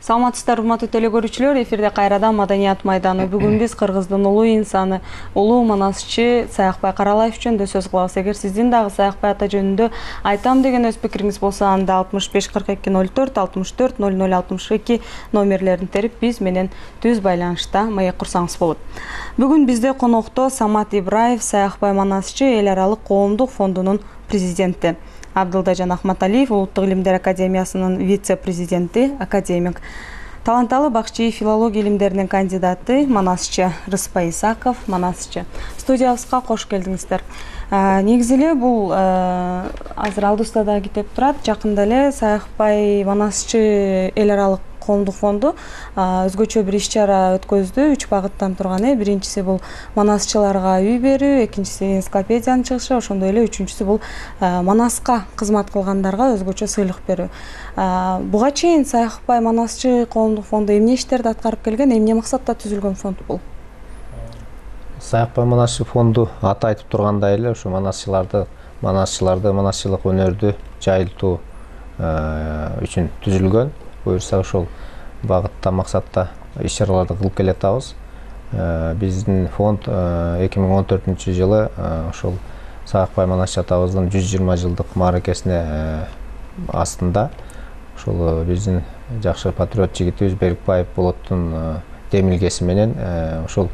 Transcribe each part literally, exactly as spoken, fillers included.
Саламатсыздар, урматтуу телекөрүүчүлөр, эфирде кайрадан Маданият майданы. Бүгүн биз Кыргыздын улуу инсаны, улуу манасчы Саякбай Каралаев жөнүндө сөз кылабыз. Эгер сиздин дагы Саякбай ата жөнүндө айтам деген өз пикириңиз болсо, анда алтымыш беш кырк эки ноль төрт алтымыш төрт ноль ноль алтымыш эки номерлерин терип биз менен түз байланышта маек курсаңыз болот. Бүгүн бизде конокто Самат Ибраев, Саякбай манасчы эл аралык коомдук фондунун президенти. Абдылдажан Ахматалиев, Улуттук илимдер академиясынын вице-президенти, академик. Таланталы бакчы филология илимдеринин кандидаты, манасчы Рыспай Исаков, манасчы. Студиябызга кош келдиңиздер. Негизи эле бул азыр алдыбызда да кетип турат. Жакында эле Саякбай манасчы эл аралык коомдук фонду өзгөчө бир иш-чара өткөздү. Үч багыттан турган. Биринчиси бул манасчыларга үй берүү, экинчиси энциклопедиянын чыгышы, ошондой эле үчүнчүсү бул манаска кызмат кылгандарга өзгөчө сыйлык берүү. Буга чейин Саякбай манасчы коомдук фонду эмне иштерди аткарып келген, эмне максатта түзүлгөн фонд бул? Саякбай манасчы фонду аты айтып тургандай эле ушу манасчыларды, манасчыларды, манасчылык өнөрдү жайылтуу үчүн түзүлгөн. Буюрса ошол багытта, максатта иш-чараларды кылып келатабыз. Биздин фонд эки миң он төртүнчү жылы ошол Саякбай манасчы атабыздын жүз жыйырма жылдык мааракесине астында ошол биздин жакшы патриот жигитибиз Берикбаев Болоттун демилгеси менен ошол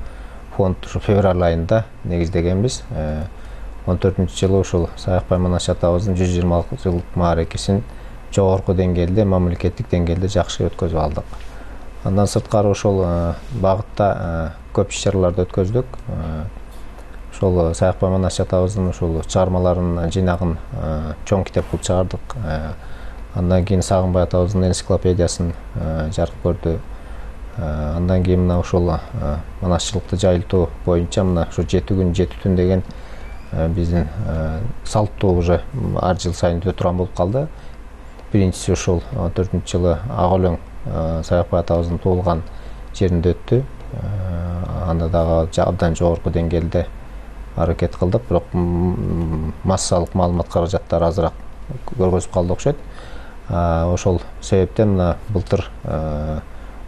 фонд ушу февраль айында негиздегенбиз. он төртүнчү жылы ошол Саякбай манасчы атабыздын жүз жыйырма жылдык мааракесин жогорку деңгээлде, мамлекеттик деңгээлде жакшы өткөзүп алдык. Андан сырткары ошол багытта көп иш-чараларды өткөздүк. Ошол Саякбай манасчы атабыздын ошол чыгармаларынын жыйнагын чоң китеп кылып чыгардык. Андан кийин Сагынбай атабыздын энциклопедиясын жарык көрдү. Андан кийин мына ошол манасчылыкты жайылтуу боюнча мына ушу жети күн жети түн деген биздин салттуу уже ар жыл сайын өтө турган болуп калды. Биринчиси ошол он төртүнчү жылы Ак өлөң Саякбай атабыздын туулган жеринде өттү. Анда дагы абдан жогорку деңгээлде аракет кылдык, бирок массалык маалымат каражаттары азыраак көргөзүп калды окшойт. Ошол себептен мына былтыр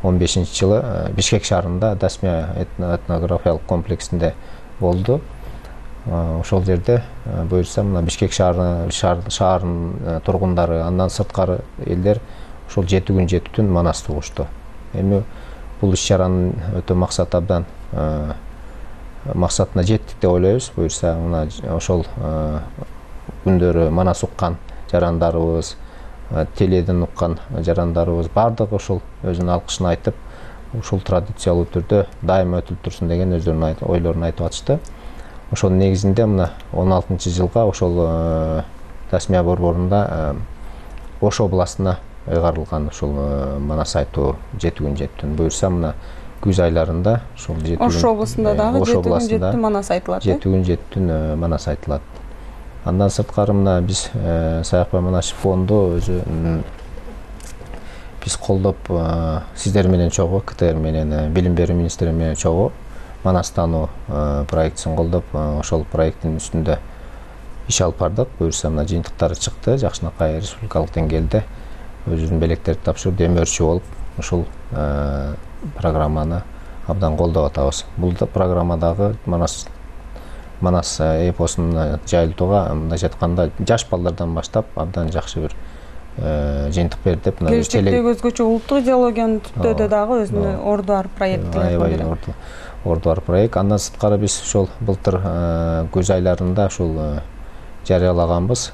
он бешинчи жылы Бишкек шаарында Дасмия этнографиялык комплексинде болду. Ошол жерде буюрса мына Бишкек шаарынын тургундары, андан сырткары элдер ошол жети күн жети түн манас угушту. Эми бул иш-чаранын өтө максаты абдан максатына жеттик деп ойлойбуз. Буюрса мына ошол күндөрү манас уккан жарандарыбыз, теледен уккан жарандарыбыз бардыгы ошол өзүнүн алкышын айтып, ушул традициялуу түрдө дайыма өтүлүп турсун деген өздөрүнүн ойлорун айтып атышты. Ошонун негизинде мына он алтынчы жылга ошол Дасмия борборунда Ош областына ыйгарылган ушул манас айтуу жети күн жети түн. Буюрса мына күз айларында ушул жети күн Ош областында дагы жети күн жети түн манас айтылат. жети күн жети түн манас айтылат. Андан сырткары мына биз Саякбай манасчы фонду өзү биз колдоп сиздер менен чогуу, КТР менен, билим берүү министри менен чогуу манастануу проектисин колдоп, ошол проекттин үстүндө иш алып бардык. Буюрса мына жыйынтыктары чыкты, жакшынакай республикалык деңгээлде өзүнүн белектерди тапшырып, демөөрчү болуп, ушул программаны абдан колдоп атабыз. Бул программадагы манас манас эпосун жайылтууга мындайча айтканда жаш балдардан баштап абдан жакшы бир жыйынтык берди деп мына келечектеги өзгөчө улуттук идеологиянын түптөөдө дагы өзүнүн орду бар проект. Аябай орду бар проект. Андан сырткары биз ошол былтыр күз айларында ушул жарыялаганбыз.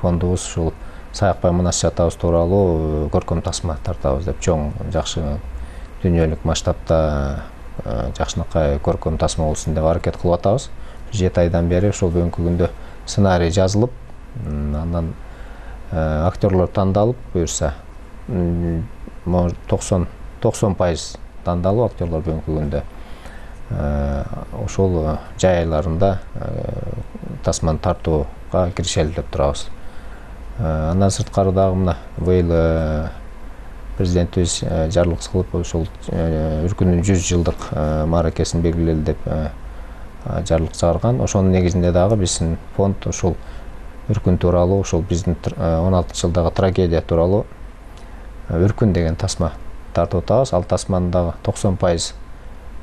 Фондубуз ушул Саякбай манасчы атабыз тууралуу көркөм тасма тартабыз деп, чоң жакшы дүйнөлүк масштабта жакшынакай көркөм тасма болсун деп аракет кылып атабыз. жети айдан бери ошол бүгүнкү күндө сценарий жазылып, андан актерлор тандалып, буюрса токсон пайыз тандалуу актерлор бүгүнкү күндө ошол жай айларында тасманы тартууга киришели деп турабыз. Андан сырткары дагы мына быйыл президентибиз жарлык кылып ошол өлкөнүн жүз жылдык мааракесин белгилели деп жарлык чыгарган. Ошонун негизинде дагы биздин фонд ушул өркүн тууралуу, ошол биздин он алтынчы жылдагы трагедия тууралуу өркүн деген тасма тартып атабыз. Ал тасманын дагы токсон пайыз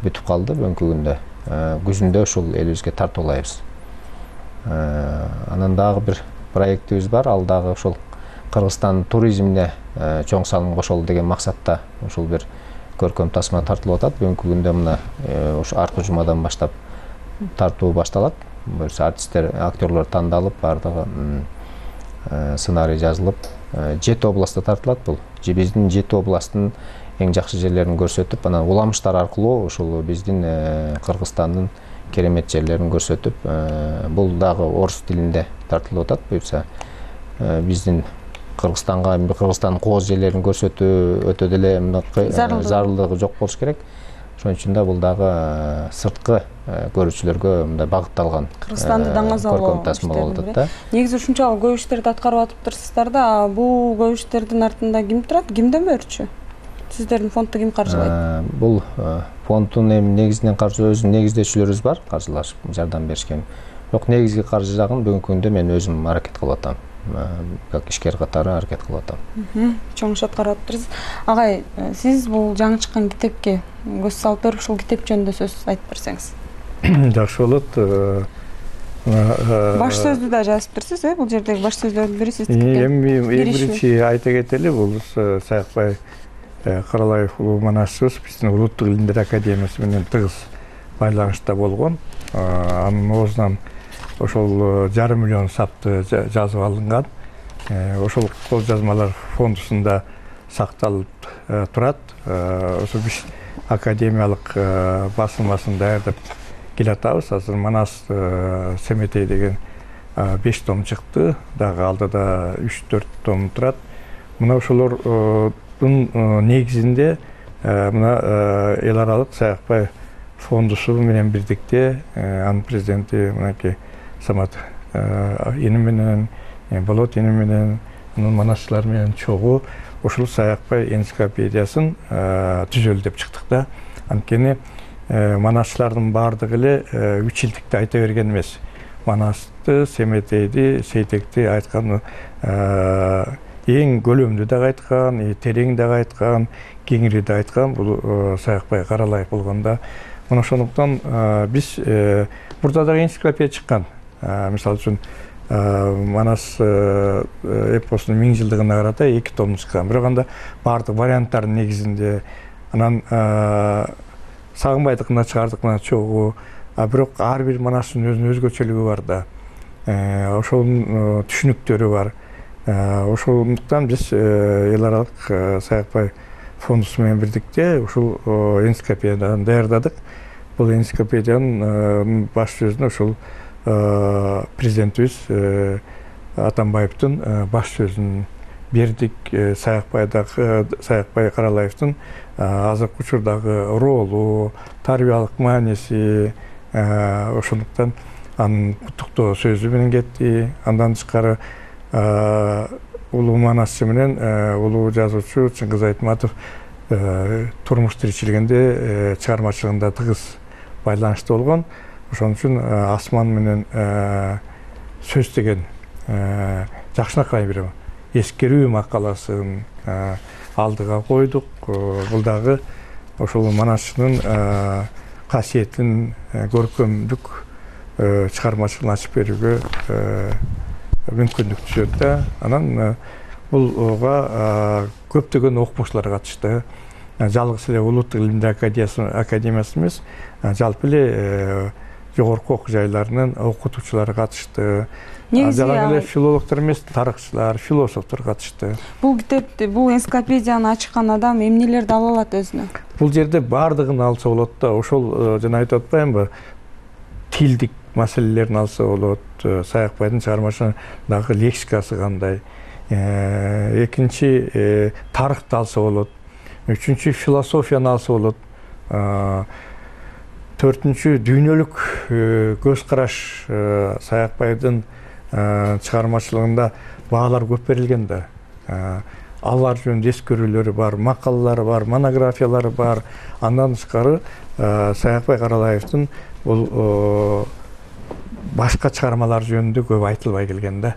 бүтүп калды бүгүнкү күндө. Күзүндө ушул элибизге тартуулайбыз. Анан дагы бир проектибиз бар. Ал дагы ушул Кыргызстан туризмине чоң салым кошолу деген максатта ушул бир көркөм тасма тартылып атат. Бүгүнкү күндө мына ушу аркы жумадан баштап тартуу башталат. Буюрса артисттер, актерлор тандалып, бардыгы сценарий жазылып, жети областта тартылат бул. Биздин жети областтын эң жакшы жерлерин көрсөтүп, анан уламыштар аркылуу ушул биздин Кыргызстандын керемет жерлерин көрсөтүп, бул дагы орус тилинде тартылып атат. Буюрса биздин Кыргызстанга, Кыргызстандын кооз жерлерин көрсөтүү өтө деле зарылдыгы жок болуш керек. Ошон үчүн да бул дагы сырткы көрүүчүлөргө мындай багытталган Кыргызстанды көркөм тасма болуп атат да. Негизи ушунчалык көп иштерди аткарып атыптырсыздар да, бул көп иштердин артында ким турат? Кимден бөлчү? Сиздердин фондду ким каржылайт? Бул фонддун эми негизинен каржы өзүнүн негиздөөчүлөрүбүз бар, каржылашып жардам беришкен. Бирок негизги каржы жагын бүгүнкү күндө мен өзүм аракет кылып атам. Как ишкер катары аракет кылып атам. Чоң иш аткарып атыптырсыз. Агай, сиз бул жаңы чыккан китепке көз салып берип, ушул китеп жөнүндө сөз айтып берсеңиз. Жакшы болот. Баш сөздү да жазыптырсыз, э? Бул жердеги баш сөздөрдүн бири сиздики. Эми эң биринчи айта кетели, бул Саякбай Каралаев улуу манасчыбыз биздин Улуттук илимдер академиясы менен тыгыз байланышта болгон. Анын оозунан ошол жарым миллион сапты жазып алынган. Ошол кол жазмалар фондусунда сакталып турат. Ошо биз академиялык басылмасын даярдап келатабыз. Азыр Манас Семетей деген беш том чыкты. Дагы алдыда үч төрт том турат. Мына ошолордун негизинде мына эл аралык Саякбай фондусу менен бирдикте анын президенти мынакей Самат эни менен, Болот эни менен, манасчылар менен чогуу ошол Саякбай энциклопедиясын түзөлү деп чыктык да. Анткени манасчылардын баардыгы эле үч илдикти айта берген эмес. Манасты, Семетейди, Сейтекти айткан эң көлөмдүү да айткан, терең да айткан, кеңири да айткан бул Саякбай Каралаев болгондо. Мына ошондуктан биз мурда дагы энциклопедия чыккан. Мисалы үчүн Манас эпосунун миң жылдыгына карата эки том чыккан. Бирок анда баардык варианттардын негизинде анан Сагынбайдыкына чыгардыкына чогуу, бирок ар бир манастын өзүнүн өзгөчөлүгү бар да. Ошонун түшүнүктөрү бар. Ошондуктан биз эл аралык Саякбай фондусу менен бирдикте ушул энциклопедияны даярдадык. Бул энциклопедиянын баш сөзүн ошол президентибиз Атамбаевдин баш сөзүн бердик. Саякбай Каралаевдин азыркы учурдагы ролу, тарбиялык мааниси, ошондуктан анын куттуктоо сөзү менен кетти. Андан тышкары улуу манасчы менен улуу жазуучу Чыңгыз Айтматов турмуш тиричилигинде чыгармачылыгында тыгыз байланышта болгон. Ошон үчүн асман менен сөз деген жакшынакай бир эскерүү макаласын алдыга койдук. Бул дагы ошол манасчынын касиетин, көркөмдүк чыгармачылыгын ачып берүүгө мүмкүндүк түзөт да. Анан булга көптөгөн окумуштуулар катышты. Жалгыз эле Улуттук илимдер академиясы эмес, жалпы эле жогорку окуу жайларынын окутуучулары катышты. Жалаң эле филологдор эмес, тарыхчылар, философтор катышты. Бул китепти, бул энциклопедияны ачкан адам эмнелерди ала алат өзүнө? Бул жерде баардыгын алса болот да. Ошол жана айтып атпаймынбы? Тилдик маселелерин алса болот. Саякбайдын чыгармачылыгындагы лексикасы кандай? Экинчи тарыхты алса болот. Үчүнчү философияны алса болот. Төртүнчү дүйнөлүк көз караш. Саякбайдын чыгармачылыгында баалар көп берилген да. Алар жөнүндө эскерүүлөрү бар, макалалары бар, монографиялары бар. Андан тышкары Саякбай Каралаевдин бул башка чыгармалар жөнүндө көп айтылбай келген да.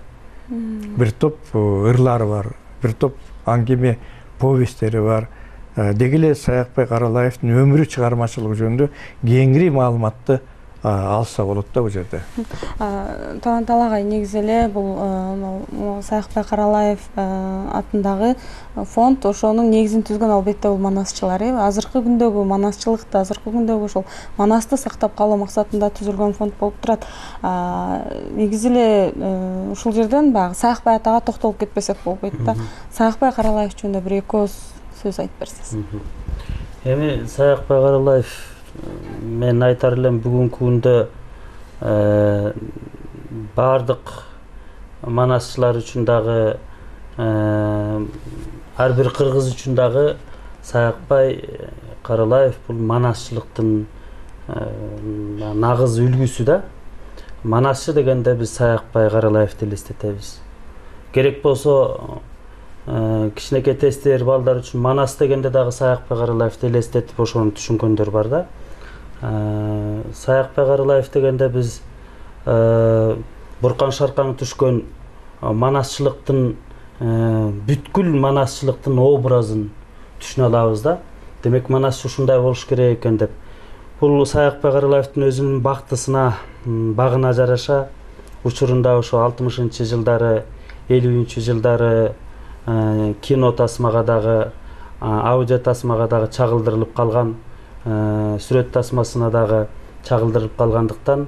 Бир топ ырлары бар, бир топ аңгеме повесттери бар. Деги эле Саякбай Каралаевдин өмүрү чыгармачылыгы жөнүндө кеңири маалыматты алса болот да бул жерде. Талант агай, негизи эле бул Саякбай Каралаев атындагы фонд ошонун негизин түзгөн албетте бул манасчылар. Азыркы күндөгү манасчылыкты, азыркы күндөгү ошол манасты сактап калуу максатында түзүлгөн фонд болуп турат. Негизи эле ушул жерден баягы Саякбай атага токтолуп кетпесек болбойт да. Саякбай Каралаев жөнүндө бир эки ооз сөз айтып берсеңиз. Эми Саякбай Каралаев, мен айтар элем бүгүнкү күндө баардык манасчылар үчүн дагы, ар бир кыргыз үчүн дагы Саякбай Каралаев бул манасчылыктын нагыз үлгүсү да. Манасчы дегенде биз Саякбай Каралаевди элестетебиз. Керек болсо кичинекей тестер балдар үчүн манас дегенде дагы Саякбай Каралаевди элестетип ошону түшүнгөндөр бар да. Саякбай Каралаев дегенде биз буркан шаркаң түшкөн манасчылыктын, бүткүл манасчылыктын образын түшүнө алабыз да. Демек манасчы ушундай болуш керек экен деп. Бул Саякбай Каралаевдин өзүнүн бактысына, багына жараша учурунда ошо алтымышынчы жылдары, элүүнчү жылдары кино тасмага дагы, аудио тасмага дагы чагылдырылып калган, сүрөт тасмасына дагы чагылдырылып калгандыктан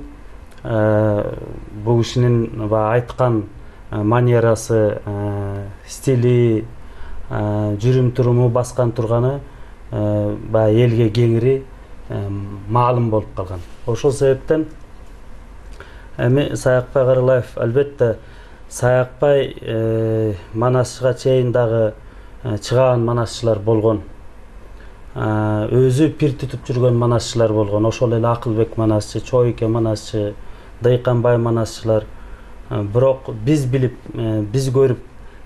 бул кишинин айткан манерасы, стили, жүрүм туруму, баскан турганы баягы элге кеңири маалым болуп калган. Ошол себептен эми Саякбай Каралаев, албетте Саякбай манасчыга чейин дагы чыган манасчылар болгон. Өзү пир түтүп жүргөн манасчылар болгон. Ошол эле Акылбек манасчы, Чойке манасчы, Дыйканбай манасчылар. Бирок биз билип, биз көрүп,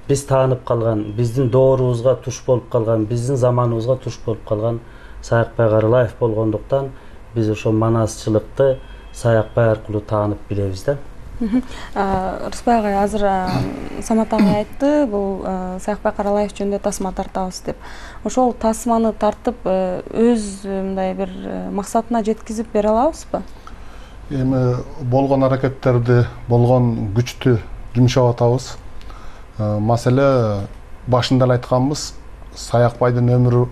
биз таанып калган, биздин доорубузга туш болуп калган, биздин заманыбызга туш болуп калган Саякбай Каралаев болгондуктан биз ошол манасчылыкты Саякбай аркылуу таанып билебиз да. Рыспай агай, азыр Самат агай айтты, бул Саякбай Каралаев жөнүндө тасма тартабыз деп. Ошол тасманы тартып өз мындай бир максатына жеткизип бере алабызбы? Эми болгон аракеттерди, болгон күчтү жумшап атабыз. Маселе башында эле айтканбыз, Саякбайдын өмүрү,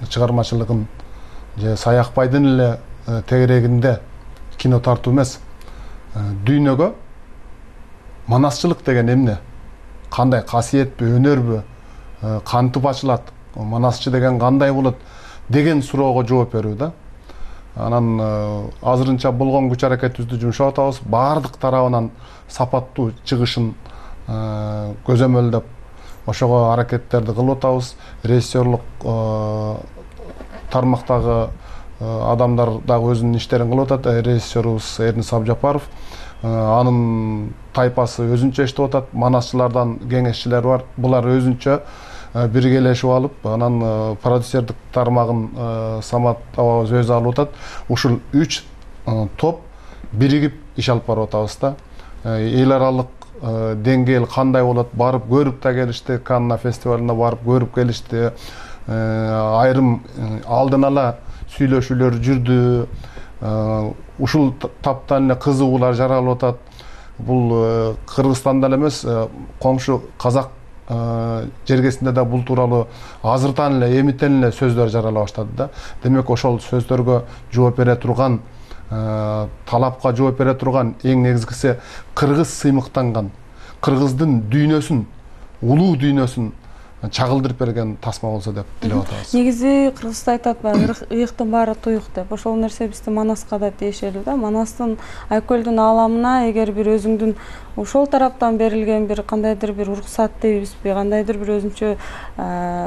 чыгармачылыгын же Саякбайдын эле тегерегинде кино тартуу эмес, дүйнөгө манасчылык деген эмне, кандай касиетпи, өнөрбү, кантип ачылат, манасчы деген кандай болот деген суроого жооп берүү да. Анан азырынча болгон күч аракетибизди жумшап атабыз, баардык тарабынан сапаттуу чыгышын көзөмөлдөп ошого аракеттерди кылып атабыз. Режиссерлук тармактагы адамдар дагы өзүнүн иштерин кылып атат. Режиссерубуз Эрнис Абжапаров, анын тайпасы өзүнчө иштеп атат, манасчылардан кеңешчилер бар. Булар өзүнчө биргелешип алып, анан продюсердик тармагын Самат абабыз өзү алып атат. Ушул үч топ биригип иш алып барып атабыз да. Эл аралык деңгээл кандай болот, барып көрүп да келишти, Канна фестивалына барып көрүп келишти. Айрым алдын ала сүйлөшүүлөр жүрдү. Ушул таптан эле кызыгуулар жаралып атат. Бул Кыргызстанда эле эмес, коңшу Казак жергесинде да бул тууралуу азыртан эле, эмитен эле сөздөр жарала баштады да. Демек ошол сөздөргө жооп бере турган, талапка жооп бере турган, эң негизгиси кыргыз сыймыктанган, кыргыздын дүйнөсүн, улуу дүйнөсүн чагылдырып берген тасма болсо деп тилеп атабыз. Негизи кыргызда айтат баягы ыйыктын баары туюк деп. Ошол нерсе бизде Манаска да тиешелүү да. Манастын Айкөлдүн ааламына эгер бир өзүңдүн ошол тараптан берилген бир кандайдыр бир уруксат дейбизби, кандайдыр бир өзүнчө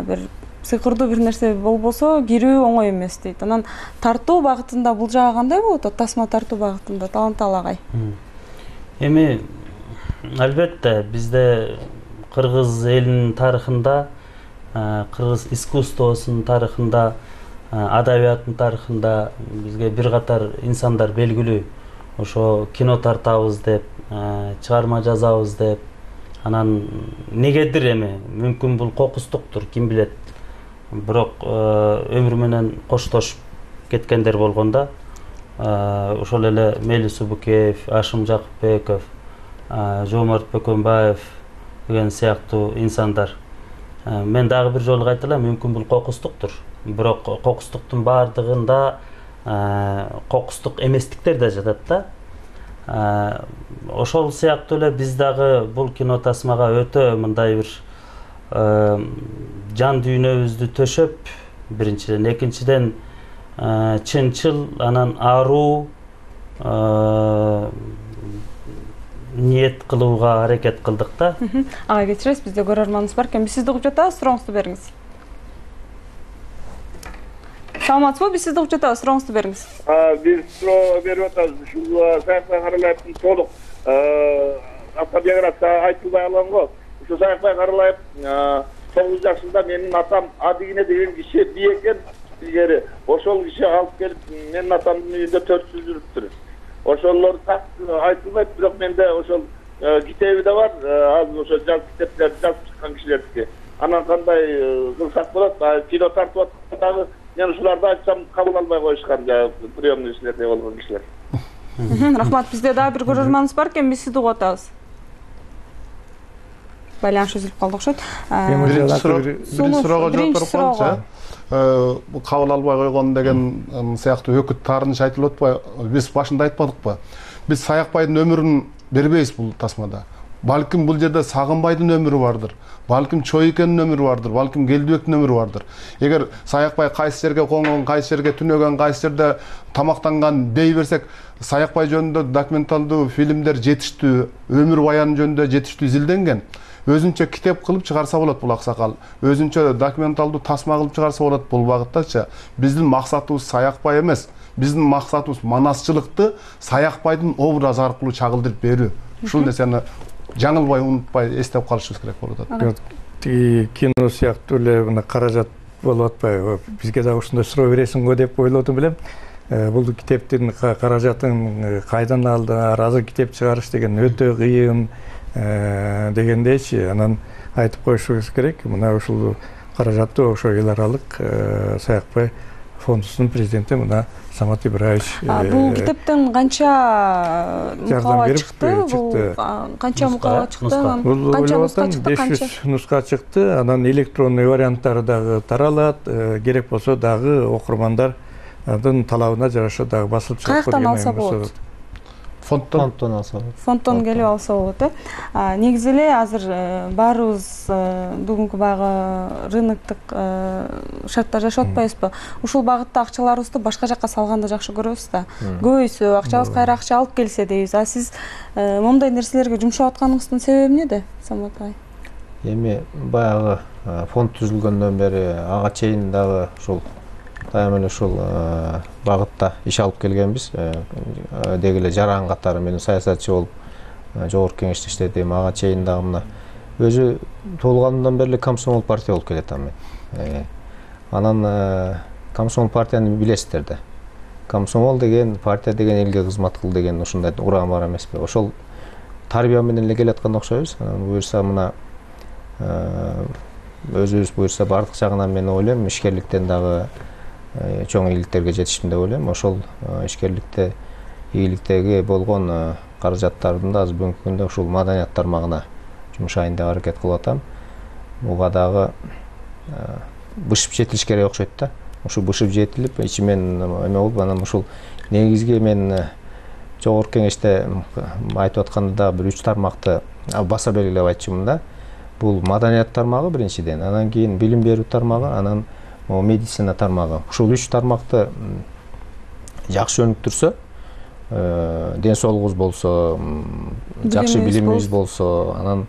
бир сыйкырдуу бир нерсе болбосо кирүү оңой эмес дейт. Анан тартуу багытында бул жагы кандай болот? Тасма тартуу багытында Талант агай. Эми албетте бизде кыргыз элинин тарыхында, кыргыз искусствосунун тарыхында, адабияттын тарыхында бизге бир катар инсандар белгилүү. Ошо кино тартабыз деп, чыгарма жазабыз деп. Анан негедир эми, мүмкүн бул кокустуктур, ким билет. бирок өмүр менен коштошуп кеткендер болгондо ошол эле Мели Субукеев, Ашым Жакыпбеков, Жоомарт Бөкөнбаев деген сыяктуу инсандар. Мен дагы бир жолу айтылам, мүмкүн бул кокустуктур. Бирок кокустуктун баардыгында кокустук эместиктер да жатат да. Ошол сыяктуу эле биз дагы бул кино тасмага өтө мындай бир жан дүйнөбүздү төшөп, биринчиден, экинчиден чынчыл, анан аруу ниет кылууга аракет кылдык да. Ага кечиресиз, бизде көрөрманыбыз бар экен. Биз сизди угуп жатабыз, сурооңузду бериңиз. Саламатсызбы? Биз сизди угуп жатабыз, сурооңузду бериңиз. Биз суроо берип атабыз. Ушул Саякбай Каралаевдин толук автобиографиясы айтылбай алган го. Ушул Саякбай Каралаев тогуз жашында менин атам Адигине деген киши бий экен илгери. Ошол киши алып келип менин атамдын үйүндө төрт жыл жүрүптүр. Ошолор айтылбайт, бирок менде ошол китеби да бар. Азыр ошо жаз китептерди жазып чыккан кишилердики. Анан кандай кылсак болот? Кино тартып аткандагы мен ушуларды айтсам кабыл албай коюшкан, приемный кишилерде болгон кишилер. Рахмат, бизде дагы бир көрөрманыбыз бар экен, биз сизди угуп атабыз. Байланыш үзүлүп калды окшойт. Биринчи суроого жооп берип коелучу. Кабыл албай койгон деген сыяктуу өкүт таарыныш айтылып атпайбы? Биз башында айтпадыкпы? Биз Саякбайдын өмүрүн бербейбиз бул тасмада. Балким бул жерде Сагынбайдын өмүрү бардыр. Балким Чойкенин өмүрү бардыр. Балким Келдибектин өмүрү бардыр. Эгер Саякбай кайсы жерге коңгон, кайсы жерге түнөгөн, кайсы жерде тамактанган дей берсек, Саякбай жөнүндө документалдуу фильмдер жетиштүү, өмүр баяны жөнүндө жетиштүү изилденген. Өзүнчө китеп кылып чыгарса болот бул аксакал. Өзүнчө документалдуу тасма кылып чыгарса болот бул багыттачы. Биздин максатыбыз Саякбай эмес. Биздин максатыбыз манасчылыкты Саякбайдын образы аркылуу чагылдырып берүү. Ушул нерсени жаңылбай, унутпай эстеп калышыбыз керек болуп атат. Тиги кино сыяктуу эле мына каражат болуп атпайбы? Бизге дагы ушундай суроо бересиңби деп ойлодум элем. Бул китептин каражатын кайдан алдыңар? Азыр китеп чыгарыш деген өтө кыйын дегендейчи. Анан айтып коюшубуз керек. Мына ушул каражатты ошо эл аралык Саякбай фондусунун президенти мына Самат Ибраевич. Бул китептен канча мукаба чыкты? Бул канча мукаба чыкты? Канча нуска чыкты? беш жүз нуска чыкты. Анан электронный варианттары дагы таралат. Керек болсо дагы окурмандардын талабына жараша дагы басылып чыгат. Каяктан алса болот? Фондтон алса болот. Фондтон келип алса болот, э. Негизи эле азыр баарыбыз бүгүнкү баягы рыноктук шарттар жашап атпайбызбы? Ушул багытта акчаларыбызды башка жакка салганды жакшы көрөбүз да. Көбүсү акчабыз кайра акча алып келсе дейбиз. А сиз момундай нерселерге жумшап атканыңыздын себеби эмнеде, Самат агай? Эми баягы фонд түзүлгөндөн бери ага чейин дагы ушул дайым эле ушул багытта иш алып келгенбиз. Деги эле жаран катары мен саясатчы болуп жогорку кеңеште иштедим. Ага чейин дагы мына өзү туулганымдан бери комсомол партия болуп келатам мен. Анан комсомол партияны билесиздер да. Комсомол деген партия деген элге кызмат кыл деген ушундай уран бар эмеспи? Ошол тарбия менен эле келаткан окшойбуз. Анан буюрса мына өзүбүз буюрса бардык жагынан мен ойлойм ишкерликтен дагы чоң ийгиликтерге жетиштим деп ойлойм. Ошол ишкерликте, ийгиликтеги болгон каражаттардын да азыр бүгүнкү күндө ушул маданият тармагына жумшайын деп аракет кылып атам. Буга дагы бышып жетилиш керек окшойт да. Ушул бышып жетилип, ичимен эме болуп, анан ушул негизги мен жогорку кеңеште айтып атканда дагы бир үч тармакты баса белгилеп айтчумун да. Бул маданият тармагы биринчиден, анан кийин билим берүү тармагы, анан медицина тармагы. Ушул үч тармакты жакшы өнүктүрсө, ден соолугубуз болсо, жакшы билимибиз болсо, анан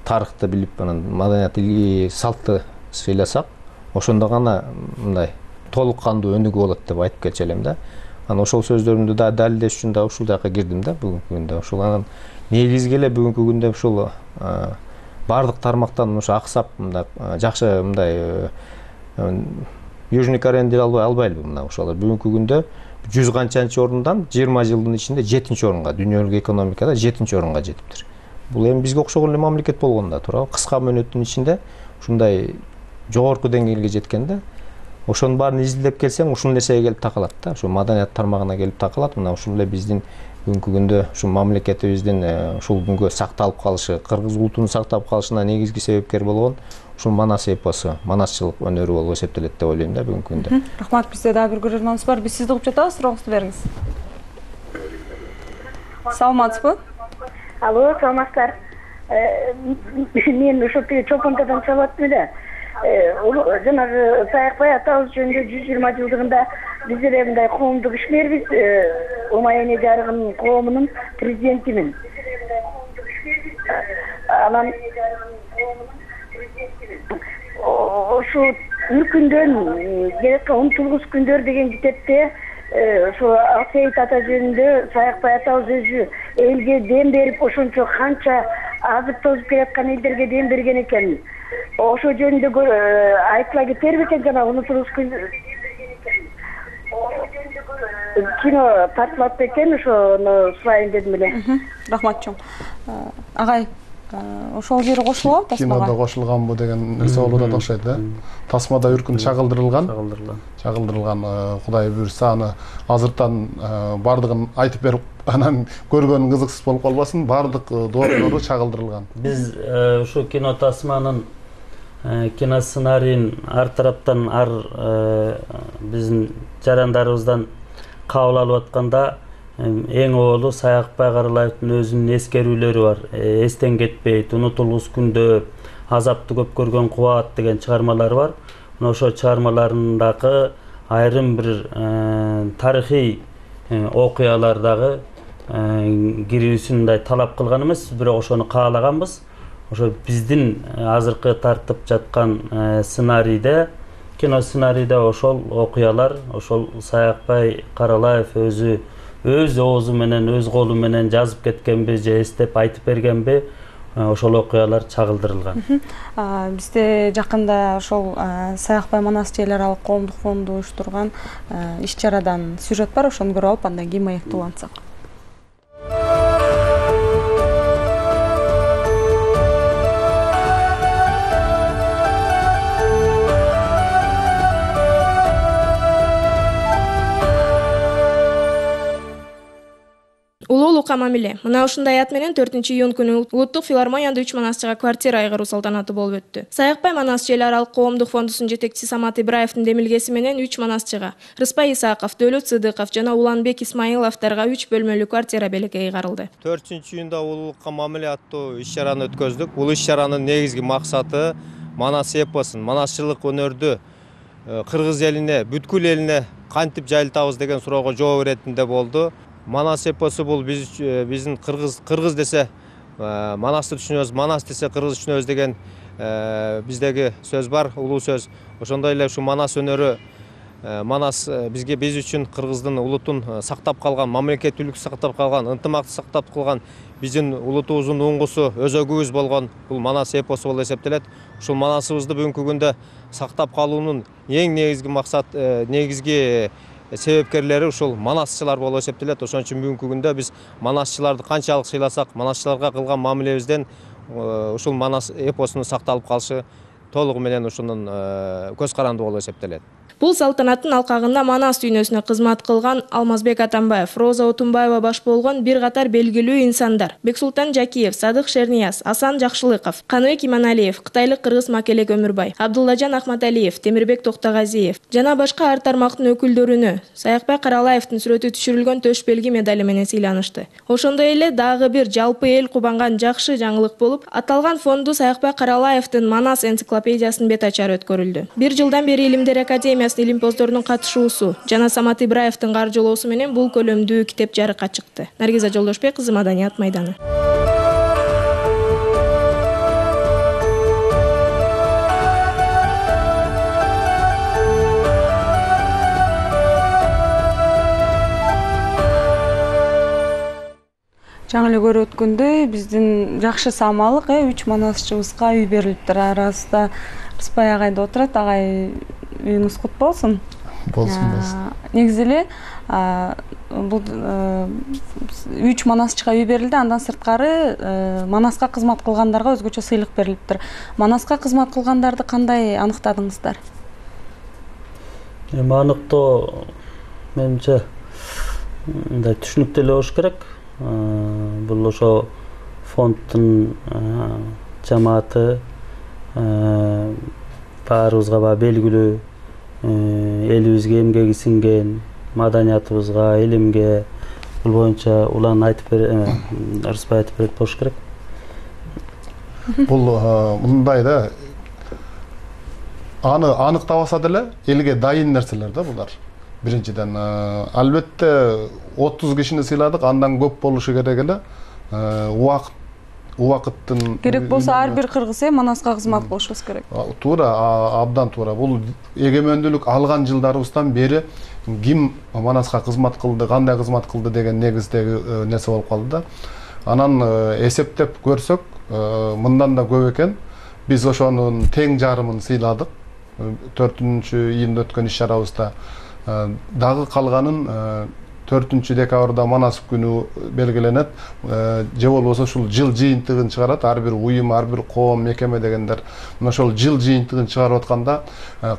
тарыхты билип, анан маданият салтты сыйласак, ошондо гана мындай толук кандуу өнүгүү болот деп айтып келчү элем да. Анан ошол сөздөрүмдү да далилдеш үчүн да ушул жака кирдим да бүгүнкү күндө. Ушул анан негизги эле бүгүнкү күндө ушул бардык тармактан ушу аксап мындай жакшы мындай Южный Кореяны деле албай албайлыбы мына ошолор бүгүнкү күндө жүз канчанчы орундан жыйырма жылдын ичинде жетинчи орунга, дүйнөлүк экономикада жетинчи орунга жетиптир. Бул эми бизге окшогон эле мамлекет болгон да туурабы? Кыска мөөнөттүн ичинде ушундай жогорку деңгээлге жеткен да. Ошонун баарын изилдеп келсең, ушул нерсеге келип такалат да. Ушу маданият тармагына келип такалат. Мына ушул эле биздин бүгүнкү күндө ушу мамлекетибиздин ушул күнгө сакталып калышы, кыргыз улутунун сакталып калышына негизги себепкер болгон ушул Манас эпосу, манасчылык өнөрү болуп эсептелет деп ойлойм да бүгүнкү күндө. Рахмат, бизде дагы бир көрөрманыбыз бар. Биз сизди угуп жатабыз, сурооңузду бериңиз. Саламатсызбы? Алло, саламатсыздар. Мен ошол чопонтадан чалаттым эле. Жанагы Саякбай атабыз жөнүндө жүз жыйырма жылдыгында биз эле мындай коомдук ишмербиз. Умай эне жарыгынын коомунун президентимин. Анан ошо үркүндөн келеткан умтулгус күндөр деген китепте ошо Алсейит ата жөнүндө Саякбай атабыз өзү элге дем берип, ошончо канча азып тозуп келаткан элдерге дем берген экен. Ошо жөнүндө айтыла кетерби экен, жана унутулуш кино тартылат экен, ошону сурайын дедим эле. Рахмат чоң. Агай, ошол жери кошулабы тасмага? Кинодо кошулганбы деген нерсе болуп атат окшойт да. Тасмада үркүн чагылдырылган. Чагылдырылган. Чагылдырылган. Кудай буйрса аны азыртан бардыгын айтып берип, анан көргөн кызыксыз болуп калбасын, бардык дооролору чагылдырылган. Биз ушу кино тасманын кино сценарийин ар тараптан, ар биздин жарандарыбыздан кабыл алып атканда эң оолу Саякбай Каралаевдин өзүнүн эскерүүлөрү бар. Эстен кетпейт, унутулгус күндө, азапты көп көргөн кубат деген чыгармалары бар. Мына ошо чыгармаларындагы айрым бир тарыхый окуялар дагы кирүүсүн мындай талап кылган эмес, бирок ошону каалаганбыз. Ошо биздин азыркы тартып жаткан сценарийде, кино сценарийде ошол окуялар, ошол Саякбай Каралаев өзү өз оозу менен, өз колу менен жазып кеткенби же эстеп айтып бергенби, ошол окуялар чагылдырылган. Бизде жакында ошол Саякбай Манас эл аралык коомдук фонду уюштурган иш-чарадан сюжет бар, ошону көрүп алып, андан кийин маектуулансак. Улуулукка мамиле. Мына ушундай ат менен төртүнчү июнь күнү Улуттук филармонияда үч манасчыга квартира айгыруу салтанаты болуп өттү. Саякбай Манас эл аралык коомдук фондусунун жетекчиси Самат Ибраевдин демилгеси менен үч манасчыга Рыспай Исаков, Дөөлөт Сыдыков жана Уланбек Исмаиловторго үч бөлмөлүү квартира белекке айгарылды. төртүнчү июнда улуулукка мамиле аттуу иш-чараны өткөздүк. Бул иш-чаранын негизги максаты Манас эпосун, манасчылык өнөрдү кыргыз элине, бүткүл элине кантип жайылтабыз деген суроого жооп беретинде болду. Манас эпосу бул биз биздин кыргыз кыргыз десе Манасты түшүнөбүз, Манас десе кыргыз түшүнөбүз деген биздеги сөз бар, улуу сөз. Ошондой эле ушу Манас өнөрү, Манас бизге биз үчүн кыргыздын улутун сактап калган, мамлекеттүүлүк сактап калган, ынтымакты сактап калган биздин улутубуздун уңгусу, өзөгүбүз болгон бул Манас эпосу болуп эсептелет. Ушул Манасыбызды бүгүнкү күндө сактап калуунун эң негизги максат, негизги себепкерлери ушул манасчылар болуп эсептелет. Ошон үчүн бүгүнкү күндө биз манасчыларды канчалык сыйласак, манасчыларга кылган мамилебизден ушул Манас эпосунун сакталып калышы толугу менен ушунун көз каранды болуп эсептелет. Бул салтанаттын алкагында Манас дүйнөсүнө кызмат кылган Алмазбек Атамбаев, Роза Отунбаева баш болгон бир катар белгилүү инсандар: Бексултан Жакиев, Садык Шернияз, Асан Жакшылыков, Каныбек Иманалиев, кытайлык кыргыз Макелек Өмүрбай, Абдуллажан Ахматалиев, Темирбек Токтогазиев жана башка ар тармактын өкүлдөрүнө Саякбай Каралаевдин сүрөтү түшүрүлгөн төш белги медали менен сыйланышты. Ошондой эле дагы бир жалпы эл кубанган жакшы жаңылык болуп, аталган фонду Саякбай Каралаевдин Манас энциклопедиясынын бет ачары өткөрүлдү. Бир жылдан бери Илимдер академиясынын илимпоздорунун катышуусу жана Самат Ибраевдин каржылоосу менен бул көлөмдүү китеп жарыкка чыкты. Наргиза Жолдошбек кызы, Маданият майданы. Жаңы эле көрүп өткөндөй биздин жакшы самалык үч манасчыбызга үй берилиптир. Арасында Рыспай агай да отурат. Агай үйүңүз кут болсун. Болсун, болсун. Негизи эле Бул үч манасчыга үй берилди, андан сырткары Манаска кызмат кылгандарга өзгөчө сыйлык берилиптир. Манаска кызмат кылгандарды кандай аныктадыңыздар? Эми аныктоо менимче мындай түшүнүктүү эле болуш керек. Бул ошо фонддун жамааты баарыбызга баягы белгилүү, элибизге эмгеги сиңген, маданиятыбызга, илимге бул боюнча улан айтып берет, ырыспай айтып берет болуш керек. Бул мындай да, аны аныктабаса деле элге дайын нерселер да булар. Биринчиден, албетте отуз кишини сыйладык, андан көп болушу керек эле. Убакыт убакыттын керек болсо ар бир кыргыз э Манаска кызмат кылышыбыз керек. Туура, абдан туура. Бул эгемендүүлүк алган жылдарыбыздан бери ким Манаска кызмат кылды, кандай кызмат кылды деген негиздеги нерсе болуп калды да. Анан эсептеп көрсөк, мындан да көп экен. Биз ошонун тең жарымын сыйладык. төртүнчү июнда өткөн иш-чарабызда дагы калганын төртүнчү декабрда Манас күнү белгиленет. Же болбосо ушул жыл жыйынтыгын чыгарат, ар бир уюм, ар бир коом, мекеме дегендер. Мына ошол жыл жыйынтыгын чыгарып атканда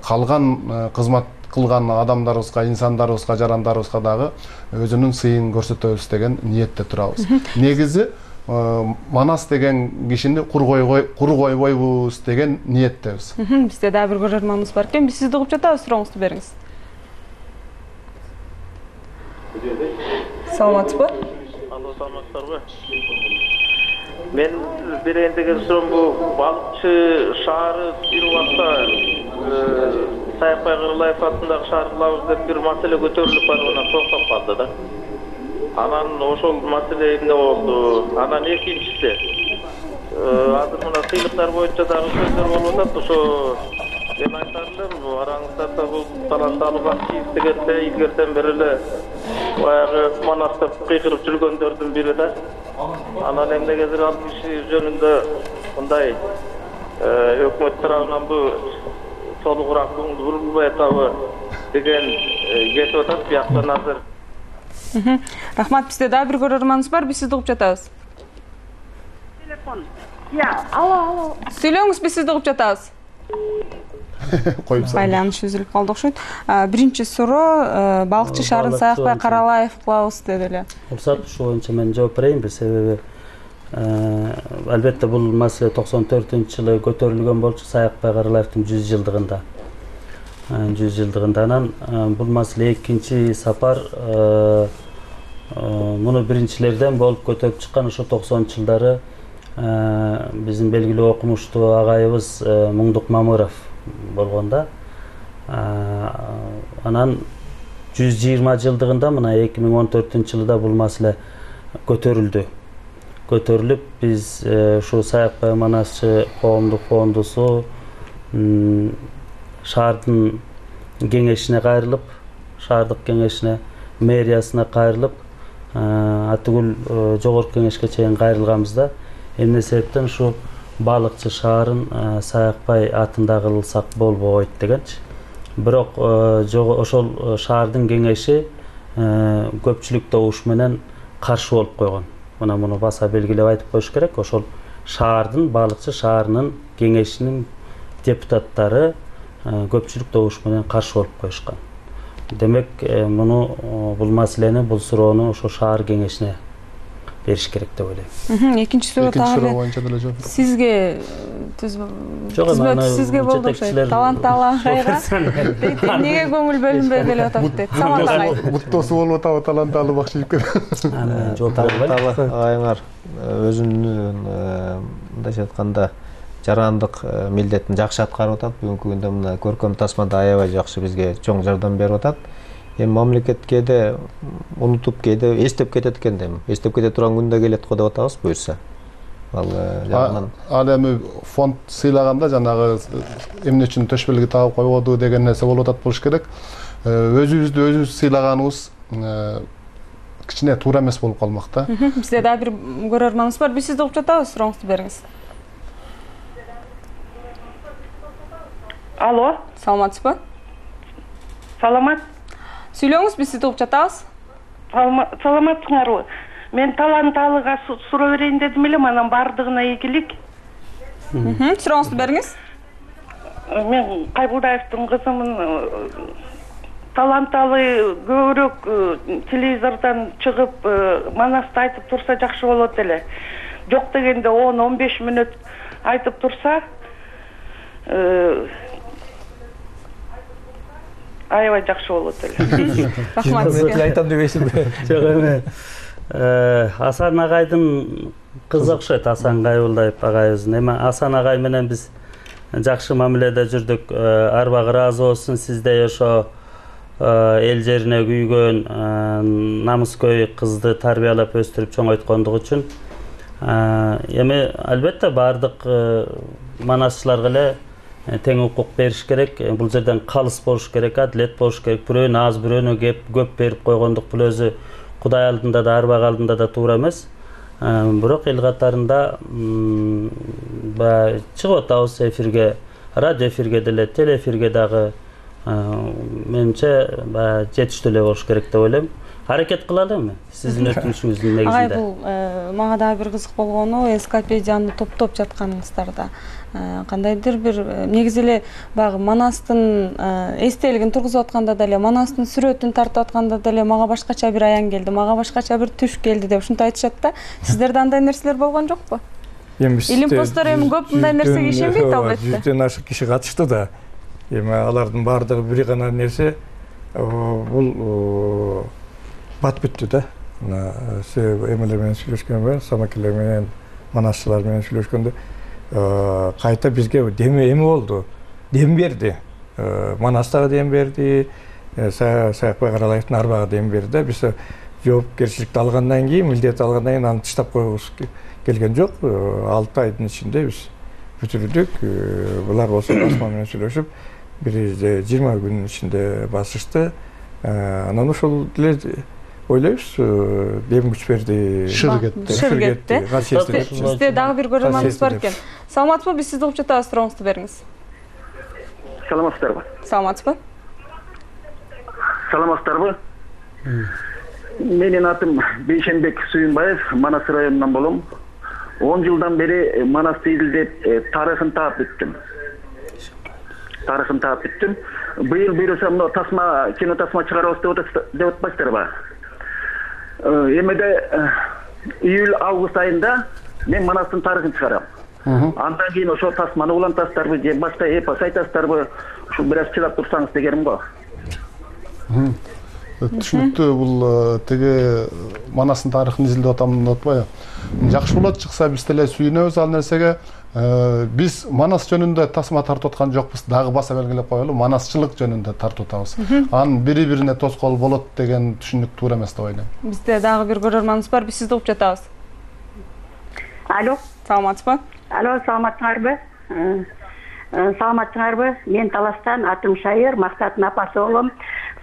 калган кызмат кылган адамдарыбызга, инсандарыбызга, жарандарыбызга дагы өзүнүн сыйын көрсөтөбүз деген ниетте турабыз. Негизи Манас деген кишини кур койбойбуз деген ниеттебиз. Бизде дагы бир көрөрманыбыз бар экен. Биз сизди угуп жатабыз, сурооңузду бериңиз. Саламатсызбы? Алло, саламатсыздарбы? Мен берейин деген суроом бул балыкчы шаары бир убакта Саякбай Кырылаев атындагы шаар кылабыз деп бир маселе көтөрүлүп барып анан токтоп калды да. Анан ошол маселе эмне болду? Анан экинчиси азыр мына сыйлыктар боюнча дагы сөздөр болуп атат. Ошо мен айтар элем, араңыздарда бул таланталуу актив дегенде илгертен бери эле баягы Манаста кыйкырып жүргөндөрдүн бири да. Анан эмнегедир ал киши жөнүндө мындай өкмөт тарабынан бул толугураак көңүл бурулбай атабы деген кетип атат бияктан азыр. Рахмат, бизде дагы бир көрөрманыбыз бар, биз сизди угуп жатабыз. Телефон. Я, алло, алло. Сүйлөңүз, биз сизди угуп жатабыз. Коюп салып. Байланыш үзүлүп калды окшойт. Биринчи суроо, балыкчы шаарын Саякбай Каралаев кылабыз деди эле. Уруксат, ушул боюнча мен жооп берейинби, себеби албетте бул маселе токсон төртүнчү жылы көтөрүлгөн болчу Саякбай Каралаевдин жүз жылдыгында. жүз жылдыгында анан бул маселе экинчи сапар муну биринчилерден болуп көтөрүп чыккан ошо токсонунчу жылдары биздин белгилүү окумуштуу агайыбыз Муңдук Мамыров болгон да. Анан жүз жыйырма жылдыгында мына эки миң он төртүнчү жылда бул маселе көтөрүлдү. Көтөрүлүп биз ушу Саякбай Манасчы коомдук фондусу шаардын кеңешине кайрылып, шаардык кеңешине, мэриясына кайрылып, атүгүл жогорку кеңешке чейин кайрылганбызда, эмне себептен ушу балыкчы шаарын Саякбай атында кылсак болбойт дегенчи. Бирок ошол шаардын кеңеши көпчүлүк добуш менен каршы болуп койгон. Мына муну баса белгилеп айтып коюш керек. Ошол шаардын, балыкчы шаарынын кеңешинин депутаттары көпчүлүк добуш менен каршы болуп коюшкан. Демек, муну бул маселени, бул суроону ошо шаар кеңешине бериш керек деп ойлойм. Экинчи суроо тагы сизге түзмөтү сизге болду окшойт. Таланттуу агайга эмнеге көңүл бөлүнбөй келип атат дейт. Самат агай. Муктоосу болуп атабы таланттуу бакчы жигиттер? Анан жооп берели. Агайыңар өзүнүн мындайча айтканда жарандык милдетин жакшы аткарып атат. Бүгүнкү күндө мына көркөм тасмада аябай жакшы бизге чоң жардам берип атат. Эми мамлекет кээде унутуп, кээде эстеп кетет экен дейм. Эстеп кете турган күндө келет го деп атабыз буюрса. Ал жагынан ал эми фонд сыйлаганда жанагы эмне үчүн төш белги тагып койбоду деген нерсе болуп атат болуш керек. Өзүбүздү өзүбүз сыйлаганыбыз кичине туура эмес болуп калмак да. Бизде дагы бир көрөрманыбыз бар. Биз сизди угуп жатабыз, сурооңузду бериңиз. Алло. Саламатсызбы? Саламат. Сүйлөңүз, биз сизди угуп жатабыз. Саламатсыңарбы? Мен таланталыга суроо берейин дедим эле, анан бардыгына ийгилик. Сурооңузду бериңиз. Мен Кайбулдаевдин кызымын. Таланталы көбүрөөк телевизордон чыгып Манасты айтып турса жакшы болот эле. Жок дегенде он он беш мүнөт айтып турса, аябай жакшы болот эле. Рахмат сизге. Айтам дебейсизби? Жок эме. Асан агайдын кызы окшойт, Асан Кайбулдаев агайыбыздын. Эми Асан агай менен биз жакшы мамиледе жүрдүк. Арбагы ыраазы болсун, сиздей ошо эл жерине күйгөн, намыскөй кызды тарбиялап өстүрүп чоңойткондугу үчүн. Эми албетте бардык манасчыларга эле тең укук бериш керек. Бул жерден калыс болуш керек, адилет болуш керек. Бирөөнү аз, бирөөнү көп берип койгондук бул өзү Кудай алдында да, арбак алдында да туура эмес. Бирок эл катарында чыгып атабыз эфирге, радио эфирге деле, телеэфирге дагы менимче жетиштүү эле болуш керек деп ойлойм. Аракет кылалы эми сиздин өтүнүшүңүздүн негизинде. Агай, бул мага дагы бир кызык болгону энциклопедияны топтоп жатканыңыздарда. Кандайдыр бир негизи эле баягы Манастын эстелигин тургузуп атканда деле, Манастын сүрөтүн тартып атканда деле мага башкача бир аян келди, мага башкача бир түш келди деп ушинтип айтышат да. Сиздерде андай нерселер болгон жокпу? Илим посттор эми көп мындай нерсеге ишенбейт албетте. Жүздөн ашык киши катышты да. Эми алардын баардыгы бир гана нерсе бул бат бүттү да. Эмелер менен сүйлөшкөндө, самакелер менен, манасчылар менен сүйлөшкөндө кайта бизге деме эми болду. Дем берди. Манастага дем берди, Саякбай Каралаевдин арбага дем берди. Биз жоопкерчиликти алгандан кийин, милдет алгандан кийин аны таштап койгубуз келген жок. алты айдын ичинде биз бүтүрдүк. Булар болсо Асман менен сүйлөшүп, бир жыйырма күнүн ичинде басышты. Анан ошол деле ойлойбуз, дем күч берди. Шыр кетти. Шыр кетти. Бизде дагы бир көрөрманыбыз бар экен. Саламатсызбы? Биз сизди угуп жатабыз, сурооңузду бериңиз. Саламатсыздарбы? Саламатсызбы? Саламатсыздарбы? Менин атым Бейшенбек Сүйүнбаев, Манас районунан болом. он жылдан бери Манасты изилдеп, тарыхын таап бүттүм. Тарыхын таап бүттүм. Быйыл буюрса мына тасма, кино тасма чыгарабыз деп атпайсыздарбы? Эмеде июль-август айында мен Манастын тарыхын чыгарам. Андан кийин ошо тасманы улантасыздарбы же башка эпос айтасыздарбы? Ушул бир аз чыдап турсаңыз дегеним го. Түшүнүктүү, бул теге Манастын тарыхын изилдеп атам деп атпайбы? Жакшы болот чыкса биз деле сүйүнөбүз ал нерсеге. Биз Манас жөнүндө тасма тартып аткан жокпуз, дагы баса белгилеп коелу, манасчылык жөнүндө тартып атабыз. Анын бири-бирине тоскоол болот деген түшүнүк туура эмес деп ойлойм. Бизде дагы бир көрөрманыбыз бар, биз сизди угуп жатабыз. Алло, саламатсызбы? Алло, саламатсыңарбы? Саламатсыңарбы? Мен Таластан, атым Шайыр, Мактаттын апасы болом.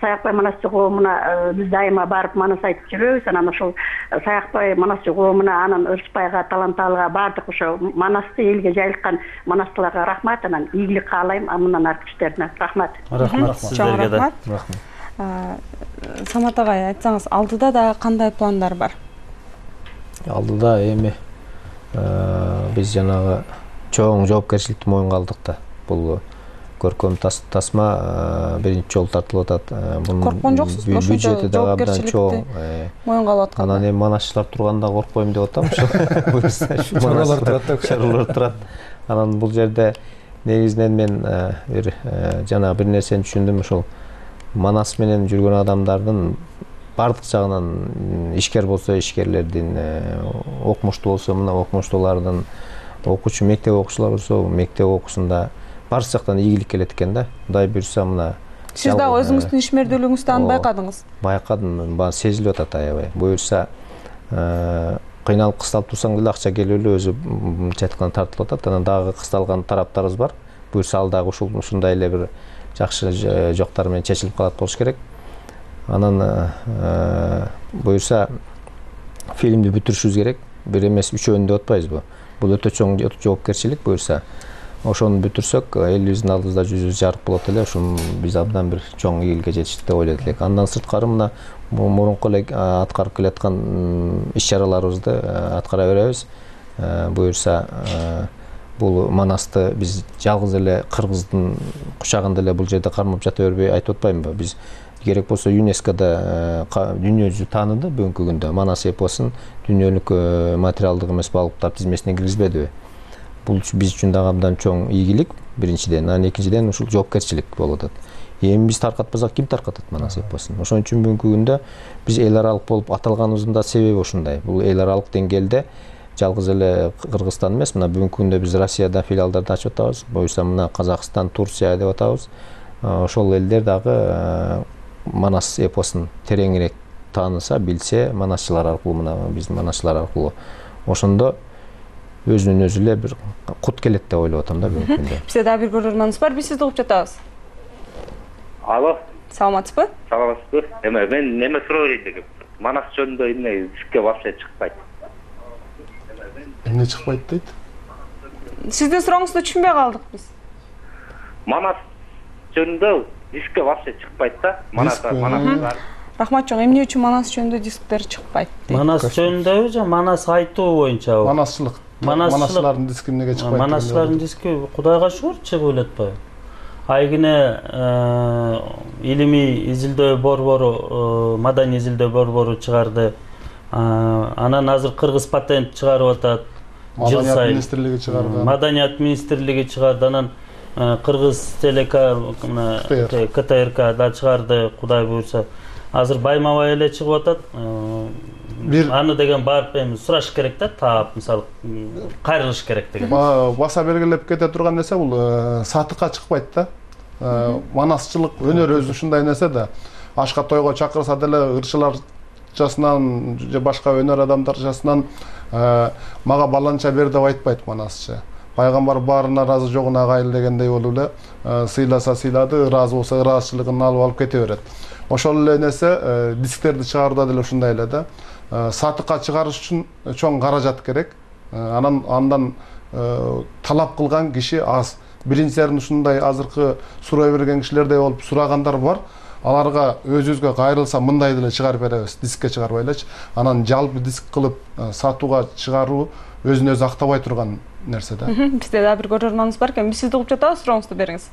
Саякбай Манасчы коомуна биз дайыма барып Манас айтып жүрөбүз. Анан ошол Саякбай Манасчы коомуна, анан Ырысбайга, Таланталыга, бардык ошо Манасты элге жайылткан манастыларга рахмат, анан ийгилик каалайм, андан аркы иштерине рахмат. Рахмат сиздерге да. Самат агай, айтсаңыз, алдыда да кандай пландар бар? Алдыда эми биз жанагы чоң жоопкерчиликти моюнга алдык да. Бул көркөм тасма биринчи жолу тартылып атат. Корккон жоксузбу? Бюджети дагы абдан чоң. Моюнга алып аткан. Анан эми манасчылар турганда коркпойм деп атам. Чаралар турат, чаралар турат. Анан бул жерде негизинен мен бир жана бир нерсени түшүндүм, ошол Манас менен жүргөн адамдардын бардык жагынан, ишкер болсо ишкерлердин, окумуштуу болсо мына окумуштуулардын, окуучу мектеп окуучулар болсо мектеп окуусунда барча жактан ийгилик келет экен да. Кудай буйрса мына сиз дагы өзүңүздүн ишмердүүлүгүңүздө аны байкадыңыз? Байкадым, баа сезилип атат аябай. Буйрса кыйналып кысталып турсаң деле акча келип эле өзү жаткан тартылып атат. Анан дагы кысталган тараптарыбыз бар. Буйрса ал дагы ушул ушундай эле бир жакшы жоктар менен чечилип калат болуш керек. Анан буйрса фильмди бүтүрүшүбүз керек. Бир эмес үчөөнү деп атпайбызбы? Бул өтө чоң жоопкерчилик буйрса. ошону бүтүрсөк элибиздин алдыбызда жүзүбүз жарык болот эле. Ушун биз абдан бир чоң ийгиликке жетиштик деп ойлойт элек. Андан сырткары мына мурунку эле аткарып келаткан иш-чараларыбызды аткара беребиз. Буюрса бул Манасты биз жалгыз эле кыргыздын кучагында эле бул жерде кармап жата бербей айтып атпаймынбы? Биз керек болсо ЮНЕСКОда дүйнө жүзү тааныды бүгүнкү күндө. Манас эпосун дүйнөлүк материалдык эмес байлыктар тизмесине киргизбедиби? Бул биз үчүн дагы абдан чоң ийгилик биринчиден, анан экинчиден ушул жоопкерчилик болуп атат. Эми биз таркатпасак ким таркатат Манас эпосун? Ошон үчүн бүгүнкү күндө биз эл аралык болуп аталганыбыздын да себеби ушундай. Бул эл аралык деңгээлде жалгыз эле Кыргызстан эмес, мына бүгүнкү күндө биз Россияда филиалдарды ачып атабыз. Буюрса мына Казакстан, Турция деп атабыз. Ошол элдер дагы Манас эпосун тереңирээк тааныса, билсе, манасчылар аркылуу, мына биздин манасчылар аркылуу ошондо өзүнөн өзү эле бир кут келет деп ойлоп атам да бүгүнкү күндө. Бизде дагы бир көрөрманыбыз бар, биз сизди угуп жатабыз. Алло. Саламатсызбы? Саламатсызбы? Эме мен неме суроо берейин дегем. Манас жөнүндө эмне дискке вообще чыкпайт. Эмне чыкпайт дейт? Сиздин сурооңузду түшүнбөй калдык биз. Манас жөнүндө дискке вообще чыкпайт да. Манас Манас. Рахмат чоң, эмне үчүн Манас жөнүндө дисктер чыкпайт? Манас жөнүндөбү же Манас айтуу боюнча? Манасчылык. Манасчылардын диски эмнеге чыкпайт? Манасчылардын диски Кудайга шүгүр чыгып элетпайбы? Айгине илимий изилдөө борбору, маданий изилдөө борбору чыгарды. Анан азыр Кыргыз патент чыгарып атат. Маданият министрлиги чыгарды. Маданият министрлиги чыгарды. Анан Кыргыз телеком КТРК да чыгарды, Кудай буйрса. Азыр байма-бай эле чыгып атат. Аны деген барып эми сураш керек да, таап, мисалы, кайрылыш керек деген. Баса белгилеп кете турган нерсе бул сатыкка чыкпайт да. Манасчылык өнөр өзү ушундай нерсе да. Ашка тойго чакырса деле ырчыларчасынан же башка өнөр адамдарчасынан мага баланча бер деп айтпайт манасчы. Пайгамбар баарына ыраазы жогуна кайыл дегендей болуп эле сыйласа сыйлады, ыраазы болсо ыраазычылыгын алып алып кете берет. Ошол эле нерсе дисктерди чыгарууда деле ушундай эле да. Сатыкка чыгарыш үчүн чоң каражат керек. Анан андан талап кылган киши аз. Биринчилерин ушундай азыркы суроо берген кишилердей болуп сурагандар бар. Аларга өзүбүзгө кайрылса мындай деле чыгарып беребиз, дискке чыгарбай элечи. Анан жалпы диск кылып сатууга чыгаруу өзүн өзү актабай турган нерсе да. Бизде дагы бир көрөрманыбыз бар экен. Биз сизди угуп жатабыз, сурооңузду бериңиз.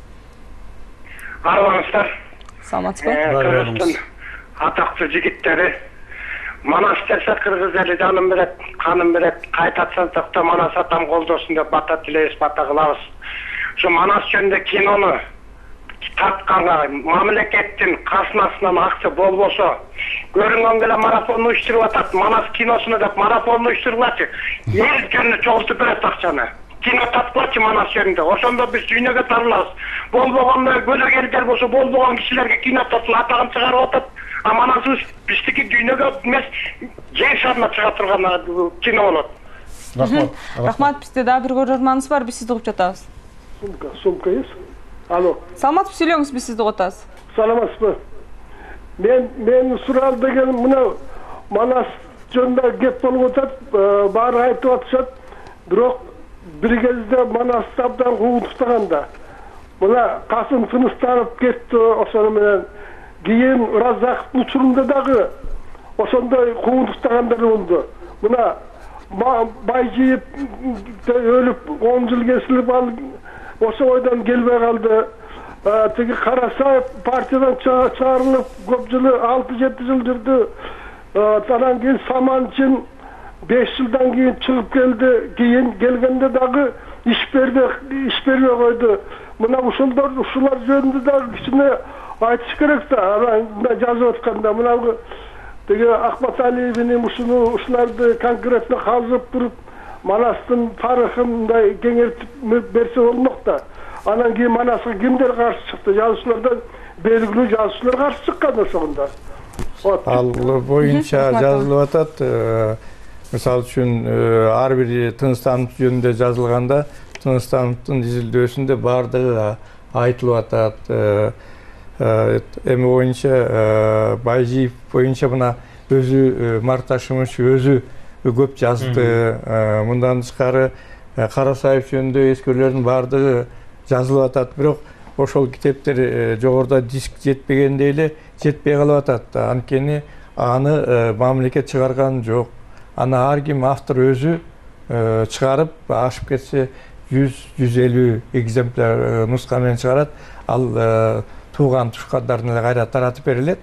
Арманыңыздар. Саламатсызбы? Кыргыздын атактуу жигиттери. Манас десе кыргыз эли жанын берет, канын берет, кайтатсак да Манас атам колдосун деп бата тилейбиз, бата кылабыз. Şu Manas жөнүндө кинону тартканга мамлекеттин казынасынан акча болбосо көрүнгөн эле марафон уюштуруп атат. Манас киносуну деп марафон уюштурулачы. Эл жөнүндө чогултуп берет акчаны. Кино тарткылачы Манас жөнүндө. Ошондо биз дүйнөгө таралабыз. Болбогондо бөлөк элдер болсо болбогон кишилерге кино тартып атагын чыгарып атат. А Манасыбыз биздики дүйнөгө эмес жер шарына чыга турган кино болот. Рахмат. Рахмат, бизде дагы бир көрөрманыбыз бар, биз сизди угуп жатабыз. Сумка, сумка есть? Алло. Саламатсызбы, сүйлөңүз, биз сизди угуп атабыз. Саламатсызбы. Мен мен сурал деген мына Манас жөнүндө кеп болуп атат, баары айтып атышат. Бирок бир кезде Манасты абдан куугунтуктаганда. Мына Касым тыныстанып кетти, ошону менен кийин Разаковдун учурунда дагы ошондой куугунтуктагандар болду. Мына Байжиев өлүп он жыл кесилип ал ошо ойдон келбей калды. Тиги Карасаев партиядан чыгарылып көп жыл алты жети жыл жүрдү. Анан кийин Саманчин беш жылдан кийин чыгып келди. Кийин келгенде дагы иш бербей иш бербей койду. Мына ушулар ушулар жөнүндө дагы кичине айтыш керек да. Анан жазып атканда мына Теги Ахмат Алиевдин ушуну ушуларды конкретно казып туруп Манастын тарыхындай кеңейтип берсе болмок да. Анан кийин Манаска кимдер каршы чыкты? Жазуучулардан белгилүү жазуучулар каршы чыккан ошондо. Ал боюнча жазылып атат. Мисалы үчүн ар бир Тыныстамов жөнүндө жазылганда Тыныстамовдун изилдөөсүндө бардыгы айтылып атат. Эми боюнча Байжиев боюнча мына өзү Марташымович өзү көп жазды. Мындан тышкары Карасаев жөнүндө эскерүүлөрдүн баардыгы жазылып атат, бирок ошол китептер жогоруда диск жетпегендей эле жетпей калып атат. Анткени аны мамлекет чыгарган жок. Аны ар ким автор өзү чыгарып, ашып кетсе жүз жүз элүү экземпляр нуска менен чыгарат. Ал тууган тушкандарына эле кайра таратып берилет.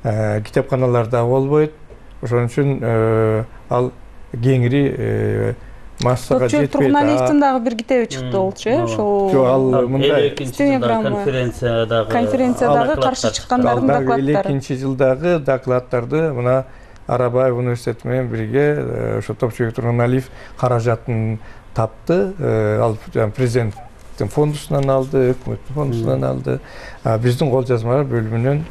Китепканаларда болбойт. Ошон үчүн ал кеңири массага жетпейт. Тургуналиевдин дагы бир китеби чыкты болчу, э? Ошол жок, ал мындай конференциядагы конференциядагы каршы чыккандардын докладдары. экинчи жылдагы докладдарды мына Арабаев университети менен бирге ошо Топчубек Тургуналиев каражатын тапты. Ал президенттин фондусунан алды, өкмөттүн фондусунан алды. Биздин кол жазмалар бөлүмүнөн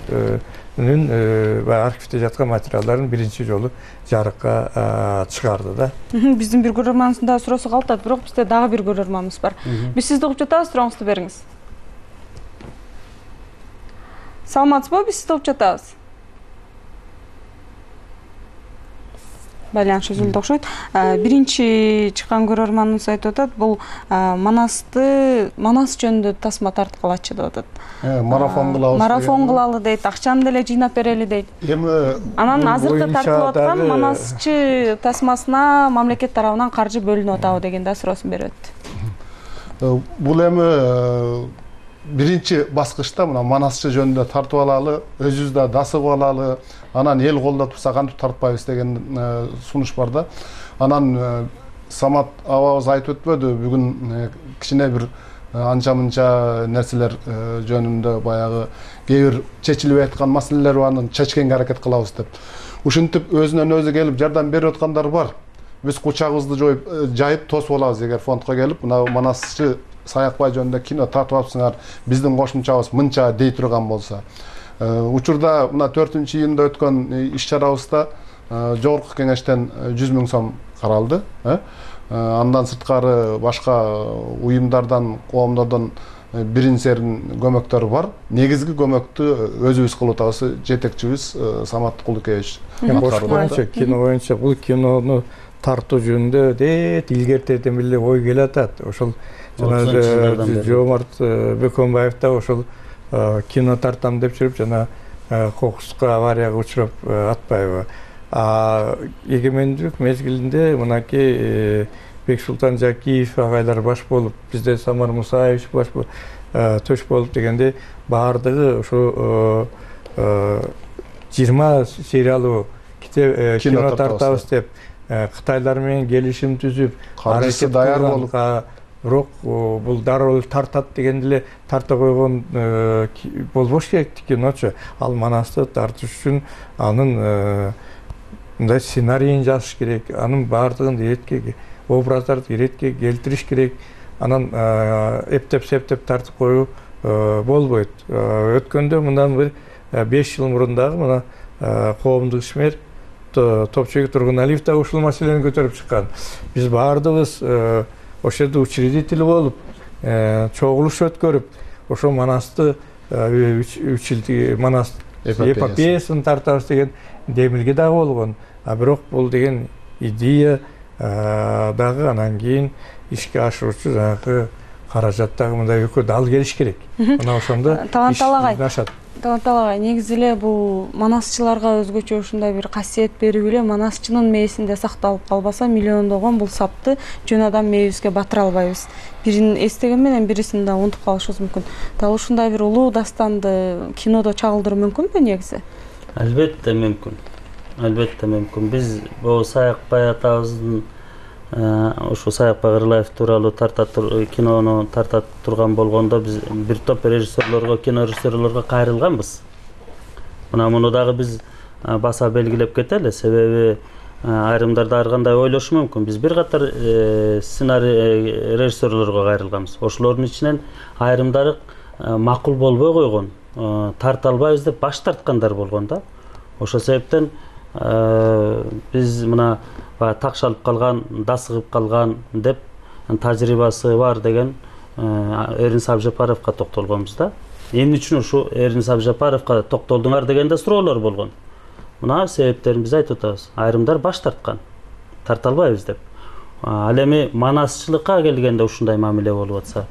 архивде жаткан материалдарын биринчи жолу жарыкка чыгарды да. Биздин бир көрөрманыбыздын дагы суроосу калтат, бирок бизде дагы бир көрөрманыбыз бар. Биз сизди угуп жатабыз, сурооңузду бериңиз. Саламатсызбы? Биз сизди угуп жатабыз. Байланыш үзүлдү окшойт. Биринчи чыккан көрөрманыбыз айтып атат, бул Манасты, Манас жөнүндө тасма тарткылачы деп атат. Марафон кылабыз. Марафон кылалы дейт, акчаны деле жыйнап берели дейт. Эми анан азыркы тартылып аткан Манасчы тасмасына мамлекет тарабынан каржы бөлүнүп атабы деген да суроосун берип атты. Бул эми биринчи баскычта мына Манасчы жөнүндө тартып алалы, өзүбүз да дасыгып алалы, анан эл колдо турса кантип тартпайбыз деген сунуш бар да. Анан Самат абабыз айтып өтпөдү, бүгүн кичине бир анча-мынча нерселер жөнүндө баягы кээ бир чечилбей аткан маселелер бар, анан чечкенге аракет кылабыз деп. Ушинтип өзүнөн өзү келип жардам берип аткандар бар. Биз кучагыбызды жоюп, жайып тосуп алабыз эгер фондко келип, мына Манасчы Саякбай жөнүндө кино тартып алыпсыңар, биздин кошумчабыз мынча дей турган болсо. Учурда мына төртүнчү июнда өткөн иш-чарабызда жогорку кеңештен жүз миң сом каралды. Андан сырткары башка уюмдардан, коомдордон бирин серин көмөктөр бар. Негизги көмөктү өзүбүз кылып атабыз, жетекчибиз Самат Кулукевич. Кино боюнча бул кинону тартуу жөнүндө дейт илгертерден беле ой келип атат. Ошол жана Жомарт Бөкөнбаев да ошол кино тартам деп жүрүп жана кокуска аварияга учурап атпайбы. А эгемендүүлүк мезгилинде мынакей Бексултан Жакиев агайлар баш болуп, бизде Самар Мусаевич баш төш болуп дегенде баардыгы ошо жыйырма сериялуу кино тартабыз деп Кытайлар менен келишим түзүп, каржысы даяр болуп, бирок бул дароо тартат дегенде эле тарта койгон болбош керек киночу. Ал Манасты тартыш үчүн анын мындай сценарийин жазыш керек, анын баардыгын иретке, образдарды иретке келтириш керек. Анан эптеп-септеп тартып коюу болбойт. Өткөндө мындан бир беш жыл мурун дагы мына коомдук ишмер Топчубек Тургуналиев да ушул маселени көтөрүп чыккан. Биз баардыгыбыз ошол жерде учредитель болуп, чогулуш өткөрүп, ошо Манасты үч жыл Манас эпопеясын тартабыз деген демилге дагы болгон. А бирок бул деген идея дагы анан кийин ишке ашыруучу жанагы каражат дагы мындай экөө дал келиш керек. Мына ошондо Талантал агай. Талантал агай, негизи эле бул манасчыларга өзгөчө ушундай бир касиет берип эле манасчынын мээсинде сакталып калбаса, миллиондогон бул сапты жөн адам мээбизге батыра албайбыз. Бирин эстеген менен бирисин да унутуп калышыбыз мүмкүн. Дал ушундай бир улуу дастанды кинодо чагылдыруу мүмкүнбү негизи? Албетте мүмкүн. Албетте мүмкүн. Биз бул Саякбай атабыздын ошо Саякбай Кырылаев тууралуу тарта кинону тарта турган болгондо биз бир топ режиссерлорго, кино режиссерлорго кайрылганбыз. Мына муну дагы биз баса белгилеп кетели, себеби айрымдар ар кандай ойлошу мүмкүн. Биз бир катар сценарий режиссерлорго кайрылганбыз. Ошолордун ичинен айрымдары макул болбой койгон, тарта албайбыз деп баш тарткандар болгон да. Ошол себептен биз мына такшалып калган, дасыгып калган деп тажрыйбасы бар деген Эрин Сабжапаровго токтолгонбуз да. Эмне үчүн ушу Эрин Сабжапаровго токтолдуңар дегенде суроолор болгон. Мына себептерин биз айтып атабыз. Айрымдар баш тарткан, тарта албайбыз деп. Ал эми манасчылыкка келгенде ушундай мамиле болуп атса,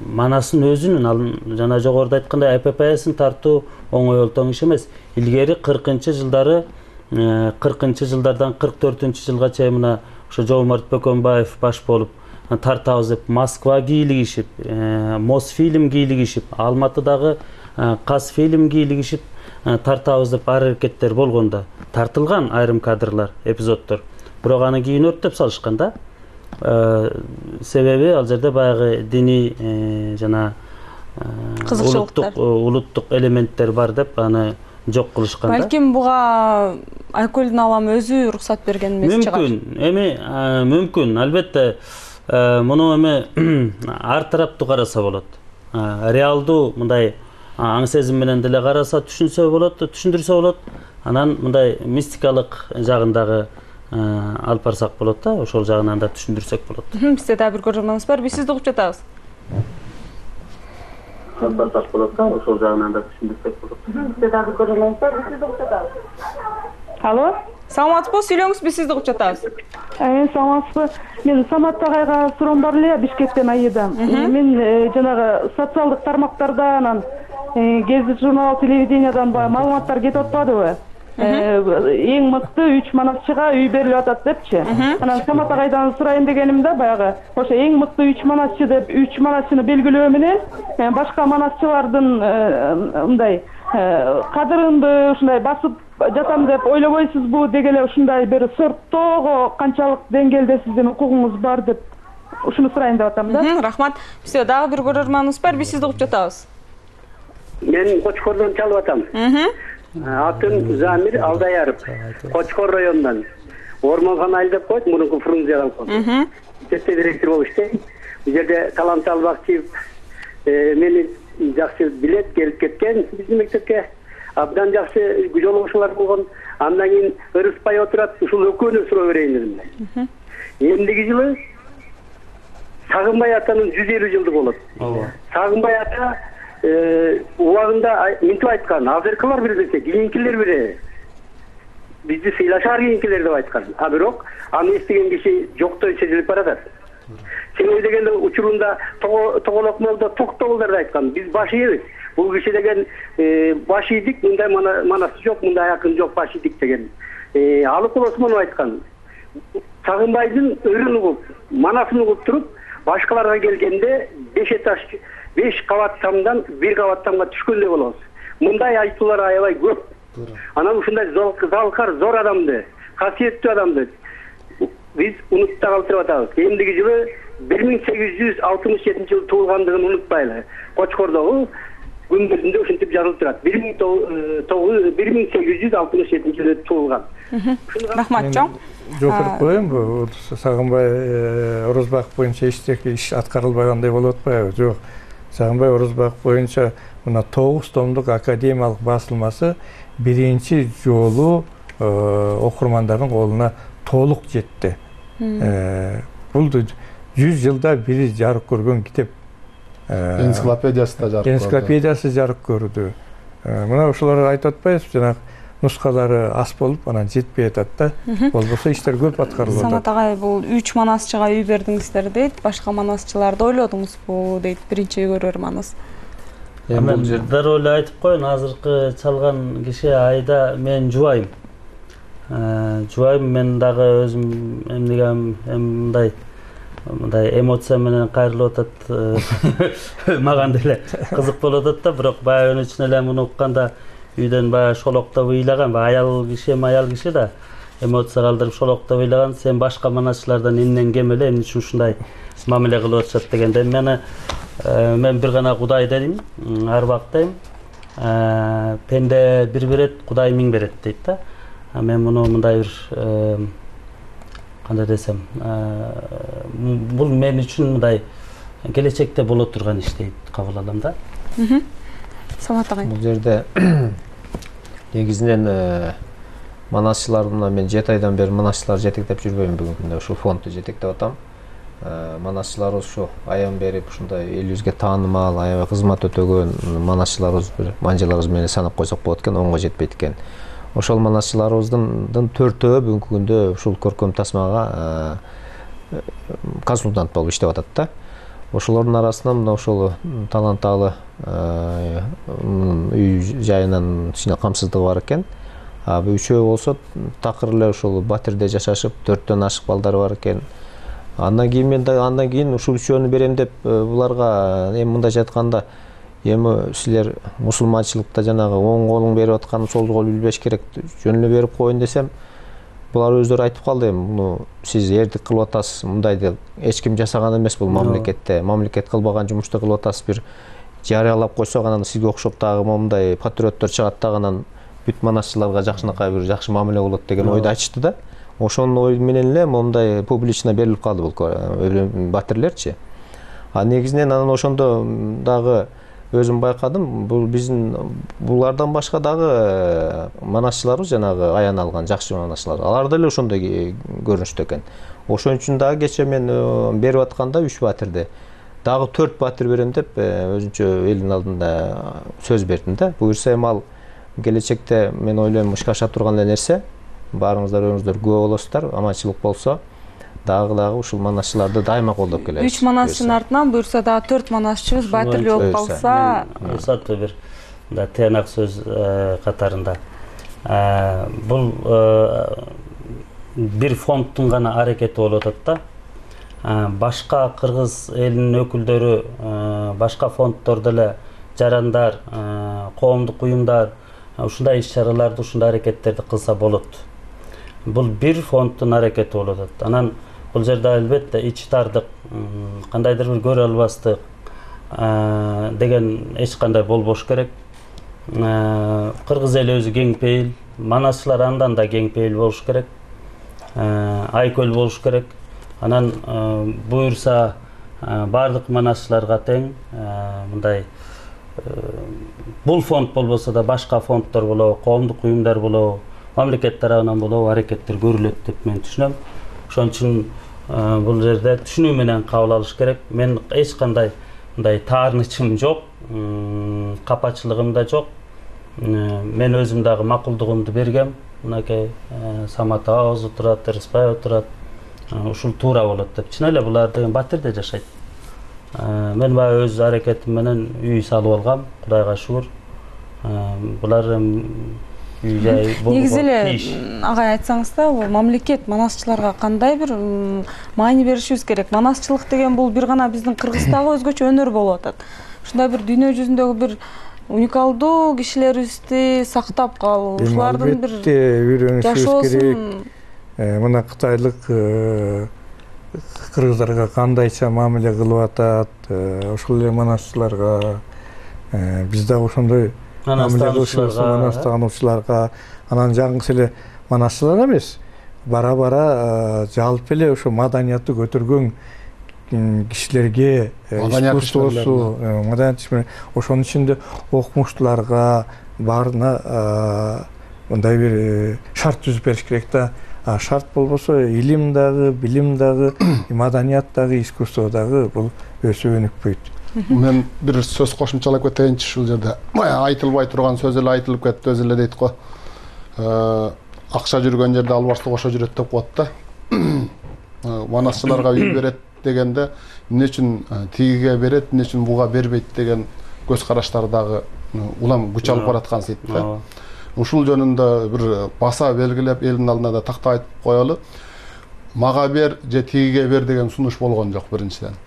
Манастын өзүнүн ал жана жогоруда айткандай А П П Син тартуу оңой олтоң иш эмес. Илгери кыркынчы жылдары кыркынчы жылдардан кырк төртүнчү жылга чейин мына ошо Жомарт Бөкөнбаев баш болуп тартабыз деп Москва кийлигишип, Мосфильм кийлигишип, Алматыдагы Казфильм кийлигишип тартабыз деп аракеттер болгондо тартылган айрым кадрлар, эпизоддор. Бирок аны кийин өрттөп салышкан да. Себеби ал жерде баягы диний жана улуттук улуттук элементтер бар деп аны жок кылышкан да. Балким буга Айкөлдүн аламы өзү уруксат берген эмес чыгар. Мүмкүн, эми мүмкүн, албетте муну эми ар тараптуу караса болот. Реалдуу мындай аң сезим менен деле караса түшүнсө болот, түшүндүрсө болот. Анан мындай мистикалык жагындагы алып барсак болот да, ошол жагынан да түшүндүрсөк болот. Бизде дагы бир көрөрманыбыз бар, биз сизди угуп жатабыз. Алып барсак болот да, ошол жагынан да түшүндүрсөк болот. Бизде дагы бир көрөрманыбыз бар, биз сизди угуп жатабыз. Алло? Саламатсызбы, сүйлөңүз, биз сизди угуп жатабыз. Мен саламатсызбы. Мен Самат агайга суроом бар эле, Бишкектен Айыдан. Мен жанагы социалдык тармактарда анан гезит журнал, телевидениядан маалыматтар кетип атпадыбы? Эң мыкты үч манасчыга үй берилип атат депчи. Анан Самат агайдан сурайын дегеним да, баягы ошо эң мыкты үч манасчы деп үч манасчыны белгилөө менен башка манасчылардын мындай кадырынды ушундай басып жатам деп ойлобойсузбу деген эле ушундай бир сорттоого канчалык деңгээлде сиздин укугуңуз бар деп ушуну сурайын деп атам да. Рахмат. Бизде дагы бир көрөрманыбыз бар, биз сизди угуп жатабыз. Мен Кочкордон чалып атам. Атым Замир Алдаяров. Кочкор районунан. Ормонхана айдап койт, мурунку Фрунзе колхозу. Жетте директор болуп иштейт. Бул жерде Талант Албакчиев мени жакшы билет, келип кеткен биздин мектепке. Абдан жакшы жолугушуулар болгон. Андан кийин ырыспай отурат, ушул экөөнү суроо берейин дедим. Эмдиги жылы Сагынбай атанын жүз элүү жылды болот. Сагынбай ата убагында мынтип айткан, азыркылар билбесе, кийинкилер биле. Бизди сыйлашаар кийинкилер деп айткан. А бирок аны эстеген киши жоктой сезилип баратат. Себеби дегенде учурунда тоголок молдо токтогулдар деп айткан. Биз баш ийбиз. Бул киши деген баш ийдик, мындай манас жок, мындай акын жок, баш ийдик деген. Алып Осмонов айткан. Сагынбайдын өрүн угуп, манасын угуп туруп, башкаларга келгенде беш этаж беш кабат тамдан бир кабат тамга түшкөндөй болобуз. Мындай айтуулар аябай көп. Анан ушундай залкар, зор адамды, касиеттүү адамды биз унутта калтырып атабыз. Эмдиги жылы бир миң сегиз жүз алтымыш жетинчи жылы туулгандыгын унутпайлы. Кочкордогу күндөрүндө ушинтип жазылып турат. бир миң сегиз жүз алтымыш жетинчи жылы туулган. Рахмат чоң. Жокуруп коеюн, бул Сагынбай Орозбак боюнча эчтеки иш аткарылбагандай болуп атпайбы? Жок. Сагынбай Орозбак боюнча мына тогуз томдук академиялык басылмасы биринчи жолу окурмандардын колуна толук жетти. Бул жүз жылда бири жарык көргөн китеп. Энциклопедиясы да жарык көрдү. Энциклопедиясы жарык көрдү. Мына ошолор айтып атпайбыз, жанагы нускалары аз болуп, анан жетпей атат да. Болбосо иштер көп аткарылып атат. Самат агай, бул үч манасчыга үй бердиңиздер дейт. Башка манасчыларды ойлодуңузбу дейт биринчи көрөрманыбыз. Мен дароо эле айтып коеюн, азыркы чалган киши Айда мен жубайым. Жубайым, мен дагы өзүм эмнеге мындай мындай эмоция менен кайрылып атат. Мага деле кызык болуп атат да, бирок баягы үчүн эле муну укканда үйдөн баягы шолоктоп ыйлаган, аял киши эми аял киши да эмоция калтырып шолоктоп ыйлаган, сен башка манасчылардан эмнен кем эле, эмне үчүн ушундай мамиле кылып атышат дегенде мени мен бир гана Кудай дедим, арбактайм. Пенде бир берет, Кудай миң берет дейт да. Мен муну мындай бир кандай десем, бул мен үчүн мындай келечекте боло турган иш дейт кабыл алам да. Самат агай. Бул жерде негизинен манасчылардын мен жети айдан бери манасчылар жетектеп жүрбөйм, бүгүнкү күндө ушул фондду жетектеп атам. Манасчыларыбыз ушу аян берип ушундай элибизге таанымал, аябай кызмат өтөгөн манасчыларыбыз бир манжаларыбыз менен санап койсок болот экен, онго жетпейт экен. Ошол манасчыларыбыздын төртөө бүгүнкү күндө ушул көркөм тасмага консультант болуп иштеп атат да. Ошолордун арасынан мына ошол таланттагы үй жайынан кичине камсыздыгы бар экен. А үчөө болсо такыр эле ошол батирде жашашып, төрттөн ашык балдары бар экен. Андан кийин мен да андан кийин ушул үчөөнү берем деп буларга эми мындайча айтканда эми силер мусулманчылыкта жанагы оң колуң берип аткан сол кол билбеш керек, жөн эле берип коеюн десем, булар өздөрү айтып калды эми муну сиз эрдик кылып атасыз, мындайды эч ким жасаган эмес бул мамлекетте, мамлекет кылбаган жумушту кылып атасыз, бир жарыялап койсок анан сизге окшоп дагы мындай патриоттор чыгат дагы анан бүт манасчыларга жакшынакай бир жакшы мамиле болот деген ойду айтышты да. Ошонун ой менен эле мондай публично берилип калды бул батирлерчи. А негизинен анан ошондо дагы өзүм байкадым, бул биздин булардан башка дагы манасчыларыбыз жанагы аян алган жакшы манасчылар. Алар деле ошондой көрүнүштө экен. Ошон үчүн дагы кече мен берип атканда үч батирди дагы төрт батир берем деп өзүнчө элдин алдында сөз бердим да. Буюрса эми ал келечекте мен ойлойм ишке аша турган эле нерсе. Баарыңыздар өзүңүздөр күбө болосуздар, аманчылык болсо дагы дагы ушул манасчыларды дайыма колдоп келебиз. үч манасчынын артынан буюрса дагы төрт манасчыбыз батирлүү болуп калса, сатты бир да тыянак сөз катарында. Бул бир фонддун гана аракети болуп атат да. Башка кыргыз элинин өкүлдөрү, башка фонддор деле жарандар, коомдук уюмдар ушундай иш-чараларды, ушундай аракеттерди кылса болот. Бул бир фонддун аракети болуп атат. Анан бул жерде албетте ич тардык, кандайдыр бир көрө албастык деген эч кандай болбош керек. Кыргыз эли өзү кең пейил, манасчылар андан да кең пейил болуш керек. Айкөл болуш керек. Анан буюрса баардык манасчыларга тең, мындай бул фонд болбосо да башка фонддор болобу, коомдук уюмдар болобу, мамлекет тарабынан болобу аракеттер көрүлөт деп мен түшүнөм. Ошон үчүн бул жерде түшүнүү менен кабыл алыш керек. Мен эч кандай мындай таарынычым жок, капачылыгым да жок. Мен өзүм дагы макулдугумду бергем. Мынакей Самат агабыз отурат, Рыспай отурат. Ушул туура болот деп. Чын эле булар деген батирде жашайт. Мен баягы өз аракетим менен үй салып алгам, Кудайга шүгүр. Булар үй жай болуп негизи эле агай айтсаңыз да, бул мамлекет манасчыларга кандай бир маани беришибиз керек? Манасчылык деген бул бир гана биздин Кыргыздагы өзгөчө өнөр болуп атат. Ушундай бир дүйнө жүзүндөгү бир уникалдуу кишилерибизди сактап калуу, ушулардын бир үйрөнүшүбүз керек. Мына кытайлык кыргыздарга кандайча мамиле кылып атат, ошол эле манасчыларга биз да ошондой мамиле кылышыбыз, манас таануучуларга, анан жаңгысы эле манасчылар эмес, бара-бара жалпы эле ошо маданиятты көтөргөн кишилерге, искусствосу, маданият, ошонун ичинде окумуштууларга баарына мындай бир шарт түзүп бериш керек да. Шарт болбосо илим дагы, билим дагы, маданият дагы, искусство дагы бул өсүп өнүкпөйт. Мен бир сөз кошумчалап кетейинчи ушул жерде. Айтылбай турган сөз эле айтылып кетти, өзү эле дейт го. Акча жүргөн жерде албаштык ошо жүрөт деп коет да. Манасчыларга үй берет дегенде эмне үчүн тигиге берет, эмне үчүн буга бербейт деген көз караштар дагы улам күч алып бараткан сейт да. Ушул жөнүндө бир баса белгилеп элдин алдына да такта айтып коелу. Мага бер же тигиге бер деген сунуш болгон жок биринчиден.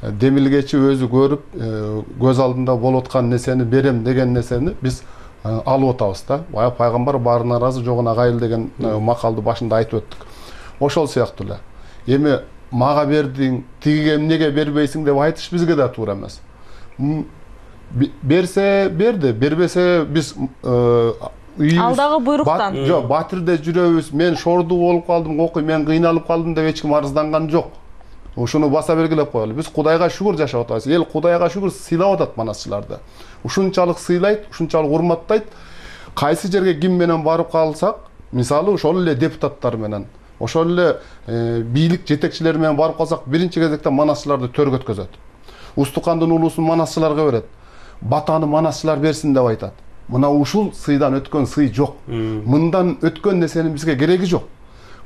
Демилгечи өзү көрүп, көз алдында болуп аткан нерсени берем деген нерсени биз алып атабыз да. Бая пайгамбар баарына ыраазы, жогуна кайыл деген макалды башында айтып өттүк. Ошол сыяктуу эле. Эми мага бердиң, тигиге эмнеге бербейсиң деп айтыш бизге да туура эмес. Берсе берди, бербесе биз алдагы буйруктан. Жок, батирде жүрөбүз. Мен шорду болуп калдым, окуй, мен кыйналып калдым деп эч ким арызданган жок. Ушуну баса белгилеп коелу. Биз Кудайга шүгүр жашап атабыз. Эл Кудайга шүгүр сыйлап атат манасчыларды. Ушунчалык сыйлайт, ушунчалык урматтайт. Кайсы жерге ким менен барып калсак, мисалы ошол эле депутаттар менен, ошол эле бийлик жетекчилери менен барып калсак, биринчи кезекте манасчыларды төргө өткөзөт. Устукандын улуусун манасчыларга берет. Батаны манасчылар берсин деп айтат. Мына ушул сыйдан өткөн сый жок. Мындан өткөн нерсенин бизге кереги жок.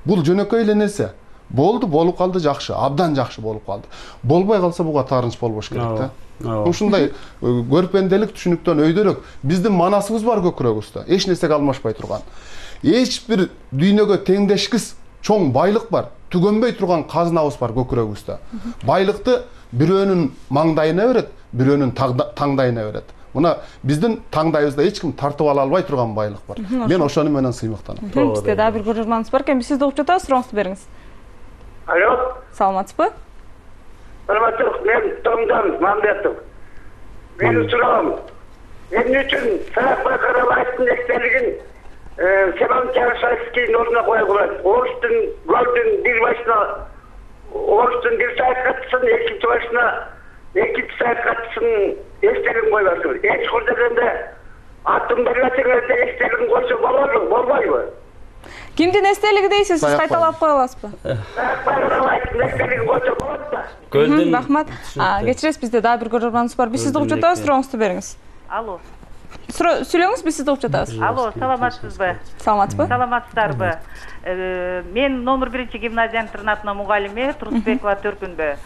Бул жөнөкөй эле нерсе. болду, болуп калды, жакшы, абдан жакшы болуп калды. Болбой калса буга таарынч болбош керек да. Ушундай көрпенделик түшүнүктөн өйдөрөк биздин манасыбыз бар көкүрөгүбүздө, эч нерсеге алмашпай турган. Эч бир дүйнөгө теңдешкис чоң байлык бар, түгөнбөй турган казынабыз бар көкүрөгүбүздө. Байлыкты бирөөнүн маңдайына берет, бирөөнүн таңдайына берет. Мына биздин таңдайыбызда эч ким тартып ала албай турган байлык бар. Мен ошону менен сыймыктанам. Бизде дагы бир көрөрманыбыз бар экен. Биз сизди угуп жатабыз, сурооңузду бериңиз. Алло. Саламатсызбы? Саламатсызбы. Мен Томдан Мамбетов. Менин суроом, эмне үчүн Саакбай Карабаевдин эстелигин Семен Чарышевскийдин ордуна коюп коет? Орустун гөлдүн бир башына Орустун бир саякатчысын, экинчи башына экинчи саякатчысын эстелигин коюп атыр. Эч курдаганда атын бербесеңерде эстелигин койсо болобу, болбойбу? Кимдин эстелиги дейсиз? Сиз кайталап кое аласызбы? Гөлдүн. Рахмат. Кечиресиз, бизде дагы бир көрөрманыбыз бар. Биз сизди угуп жатабыз, сурооңузду бериңиз. Алло. Сүйлөңүз, биз сизди угуп жатабыз. Алло, саламатсызбы? Саламатсызбы? Саламатсыздарбы? Мен номер биринчи гимназия интернатынын мугалими Турсбекова Төркүнбү.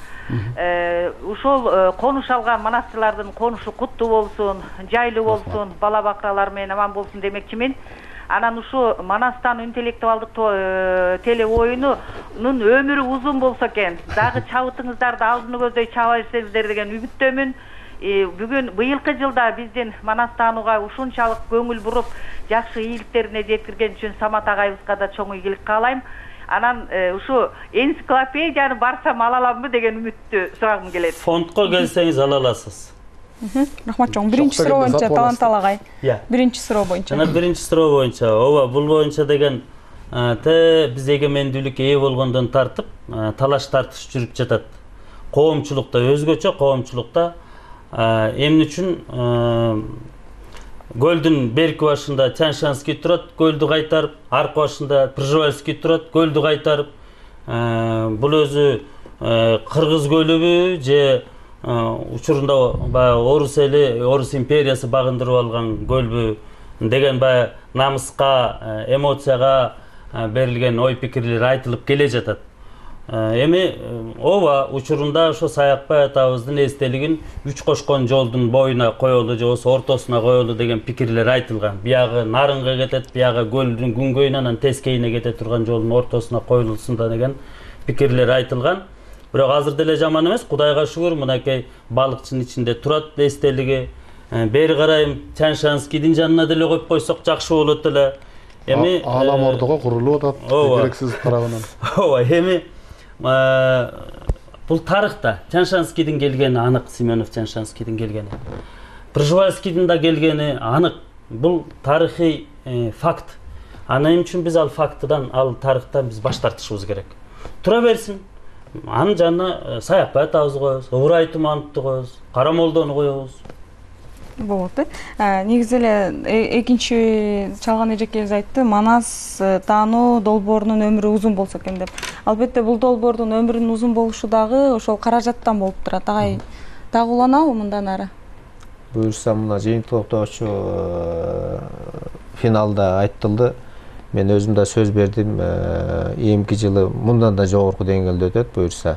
Ушул конуш алган манасчылардын конушу куттуу болсун, жайлуу болсун, бала бакралар менен аман болсун демекчимин. Анан ушу Манастан интеллектуалдык теле оюнунун өмүрү узун болсо экен, дагы чабытыңыздарды алдыны көздөй чаба берсеңиздер деген үмүттөмүн. Бүгүн быйылкы жылда биздин Манастанууга ушунчалык көңүл буруп, жакшы ийгиликтерине жеткирген үчүн Самат агайыбызга да чоң ийгилик каалайм. Анан ушу энциклопедияны барсам ала аламбы деген үмүттү сурагым келет. Фондко келсеңиз ала аласыз. Рахмат чоң. Биринчи суроо боюнча Талант Алагай. Биринчи суроо боюнча. Жана биринчи суроо боюнча, ооба, бул боюнча деген те биз эгемендүүлүккө ээ болгондон тартып, талаш тартыш жүрүп жатат. Коомчулукта өзгөчө, коомчулукта эмне үчүн Гөлдүн берки башында Чаншанский турат, Гөлдү кайтарып, аркы башында Пржевальский турат, Гөлдү кайтарып. Бул өзү Кыргыз көлүбү же учурунда баягы орус эли, орус империясы багындырып алган көлбү деген баягы намыска, эмоцияга берилген ой пикирлер айтылып келе жатат. Эми ооба, учурунда ошо Саякбай атабыздын эстелигин үч кошкон жолдун боюна коелу же болбосо ортосуна коелу деген пикирлер айтылган. Биягы Нарынга кетет, биягы көлдүн күнгөйүнө, анан Тескейине кете турган жолдун ортосуна коюлсун да деген пикирлер айтылган. Бирок азыр деле жаман эмес, Кудайга шүгүр, мынакей балыкчынын ичинде турат эстелиги. Бери карайым Чаншанскийдин жанына деле коюп койсок жакшы болот эле. Эми Аалам ордого курулуп атат, керексиз тарабынан. Ооба, эми бул тарыхта Чаншанскийдин келгени анык, Семенов Чаншанскийдин келгени. Пржевальскийдин да келгени анык. Бул тарыхый факт. Аны эмне үчүн биз ал фактыдан, ал тарыхтан биз баш тартышыбыз керек. Тура берсин. Анын жанына Саякбай атабызды коебуз, Ыбырай Тумановду коебуз, Карамолдону коебуз. Болот. Негизи эле экинчи чалган эжекебиз айтты, Манас таануу долбоорунун өмүрү узун болсо экен деп. Албетте бул долбоордун өмүрүнүн узун болушу дагы ошол каражаттан болуп турат. Агай дагы уланабы мындан ары? Буюрса мына жыйынтыктоочу финалда айтылды. Мен өзүм да сөз бердим, эмки жылы мындан да жогорку деңгээлде өтөт буюрса.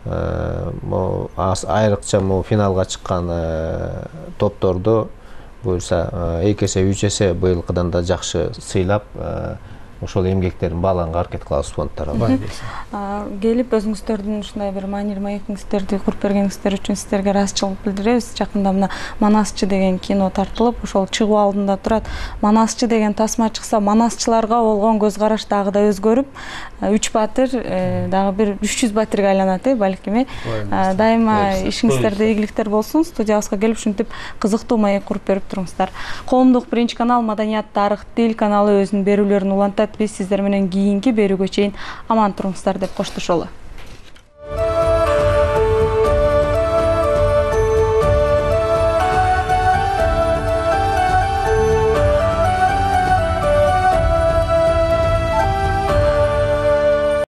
Айрыкча могу финалга чыккан топторду буюрса эки эсе, үч эсе быйылкыдан да жакшы сыйлап, ошол эмгектерин баалаганга аракет кылабыз фонд тарабынан. Келип өзүңүздөрдүн ушундай бир маанилүү маектиңиздерди куруп бергениңиздер үчүн сиздерге ыраазычылык билдиребиз. Жакында мына Манасчы деген кино тартылып, ошол чыгуу алдында турат. Манасчы деген тасма чыкса, манасчыларга болгон көз караш дагы да өзгөрүп, үч батыр дагы бир үч жүз батырга айланат, э, балким. Дайыма ишиңиздерде ийгиликтер болсун. Студиябызга келип ушинтип кызыктуу маек куруп берип туруңуздар. Коомдук биринчи канал Маданият, тарых, тил каналы өзүнүн берүүлөрүн улантат. Биз сиздер менен кийинки берүүгө чейин аман туруңуздар деп коштошолу.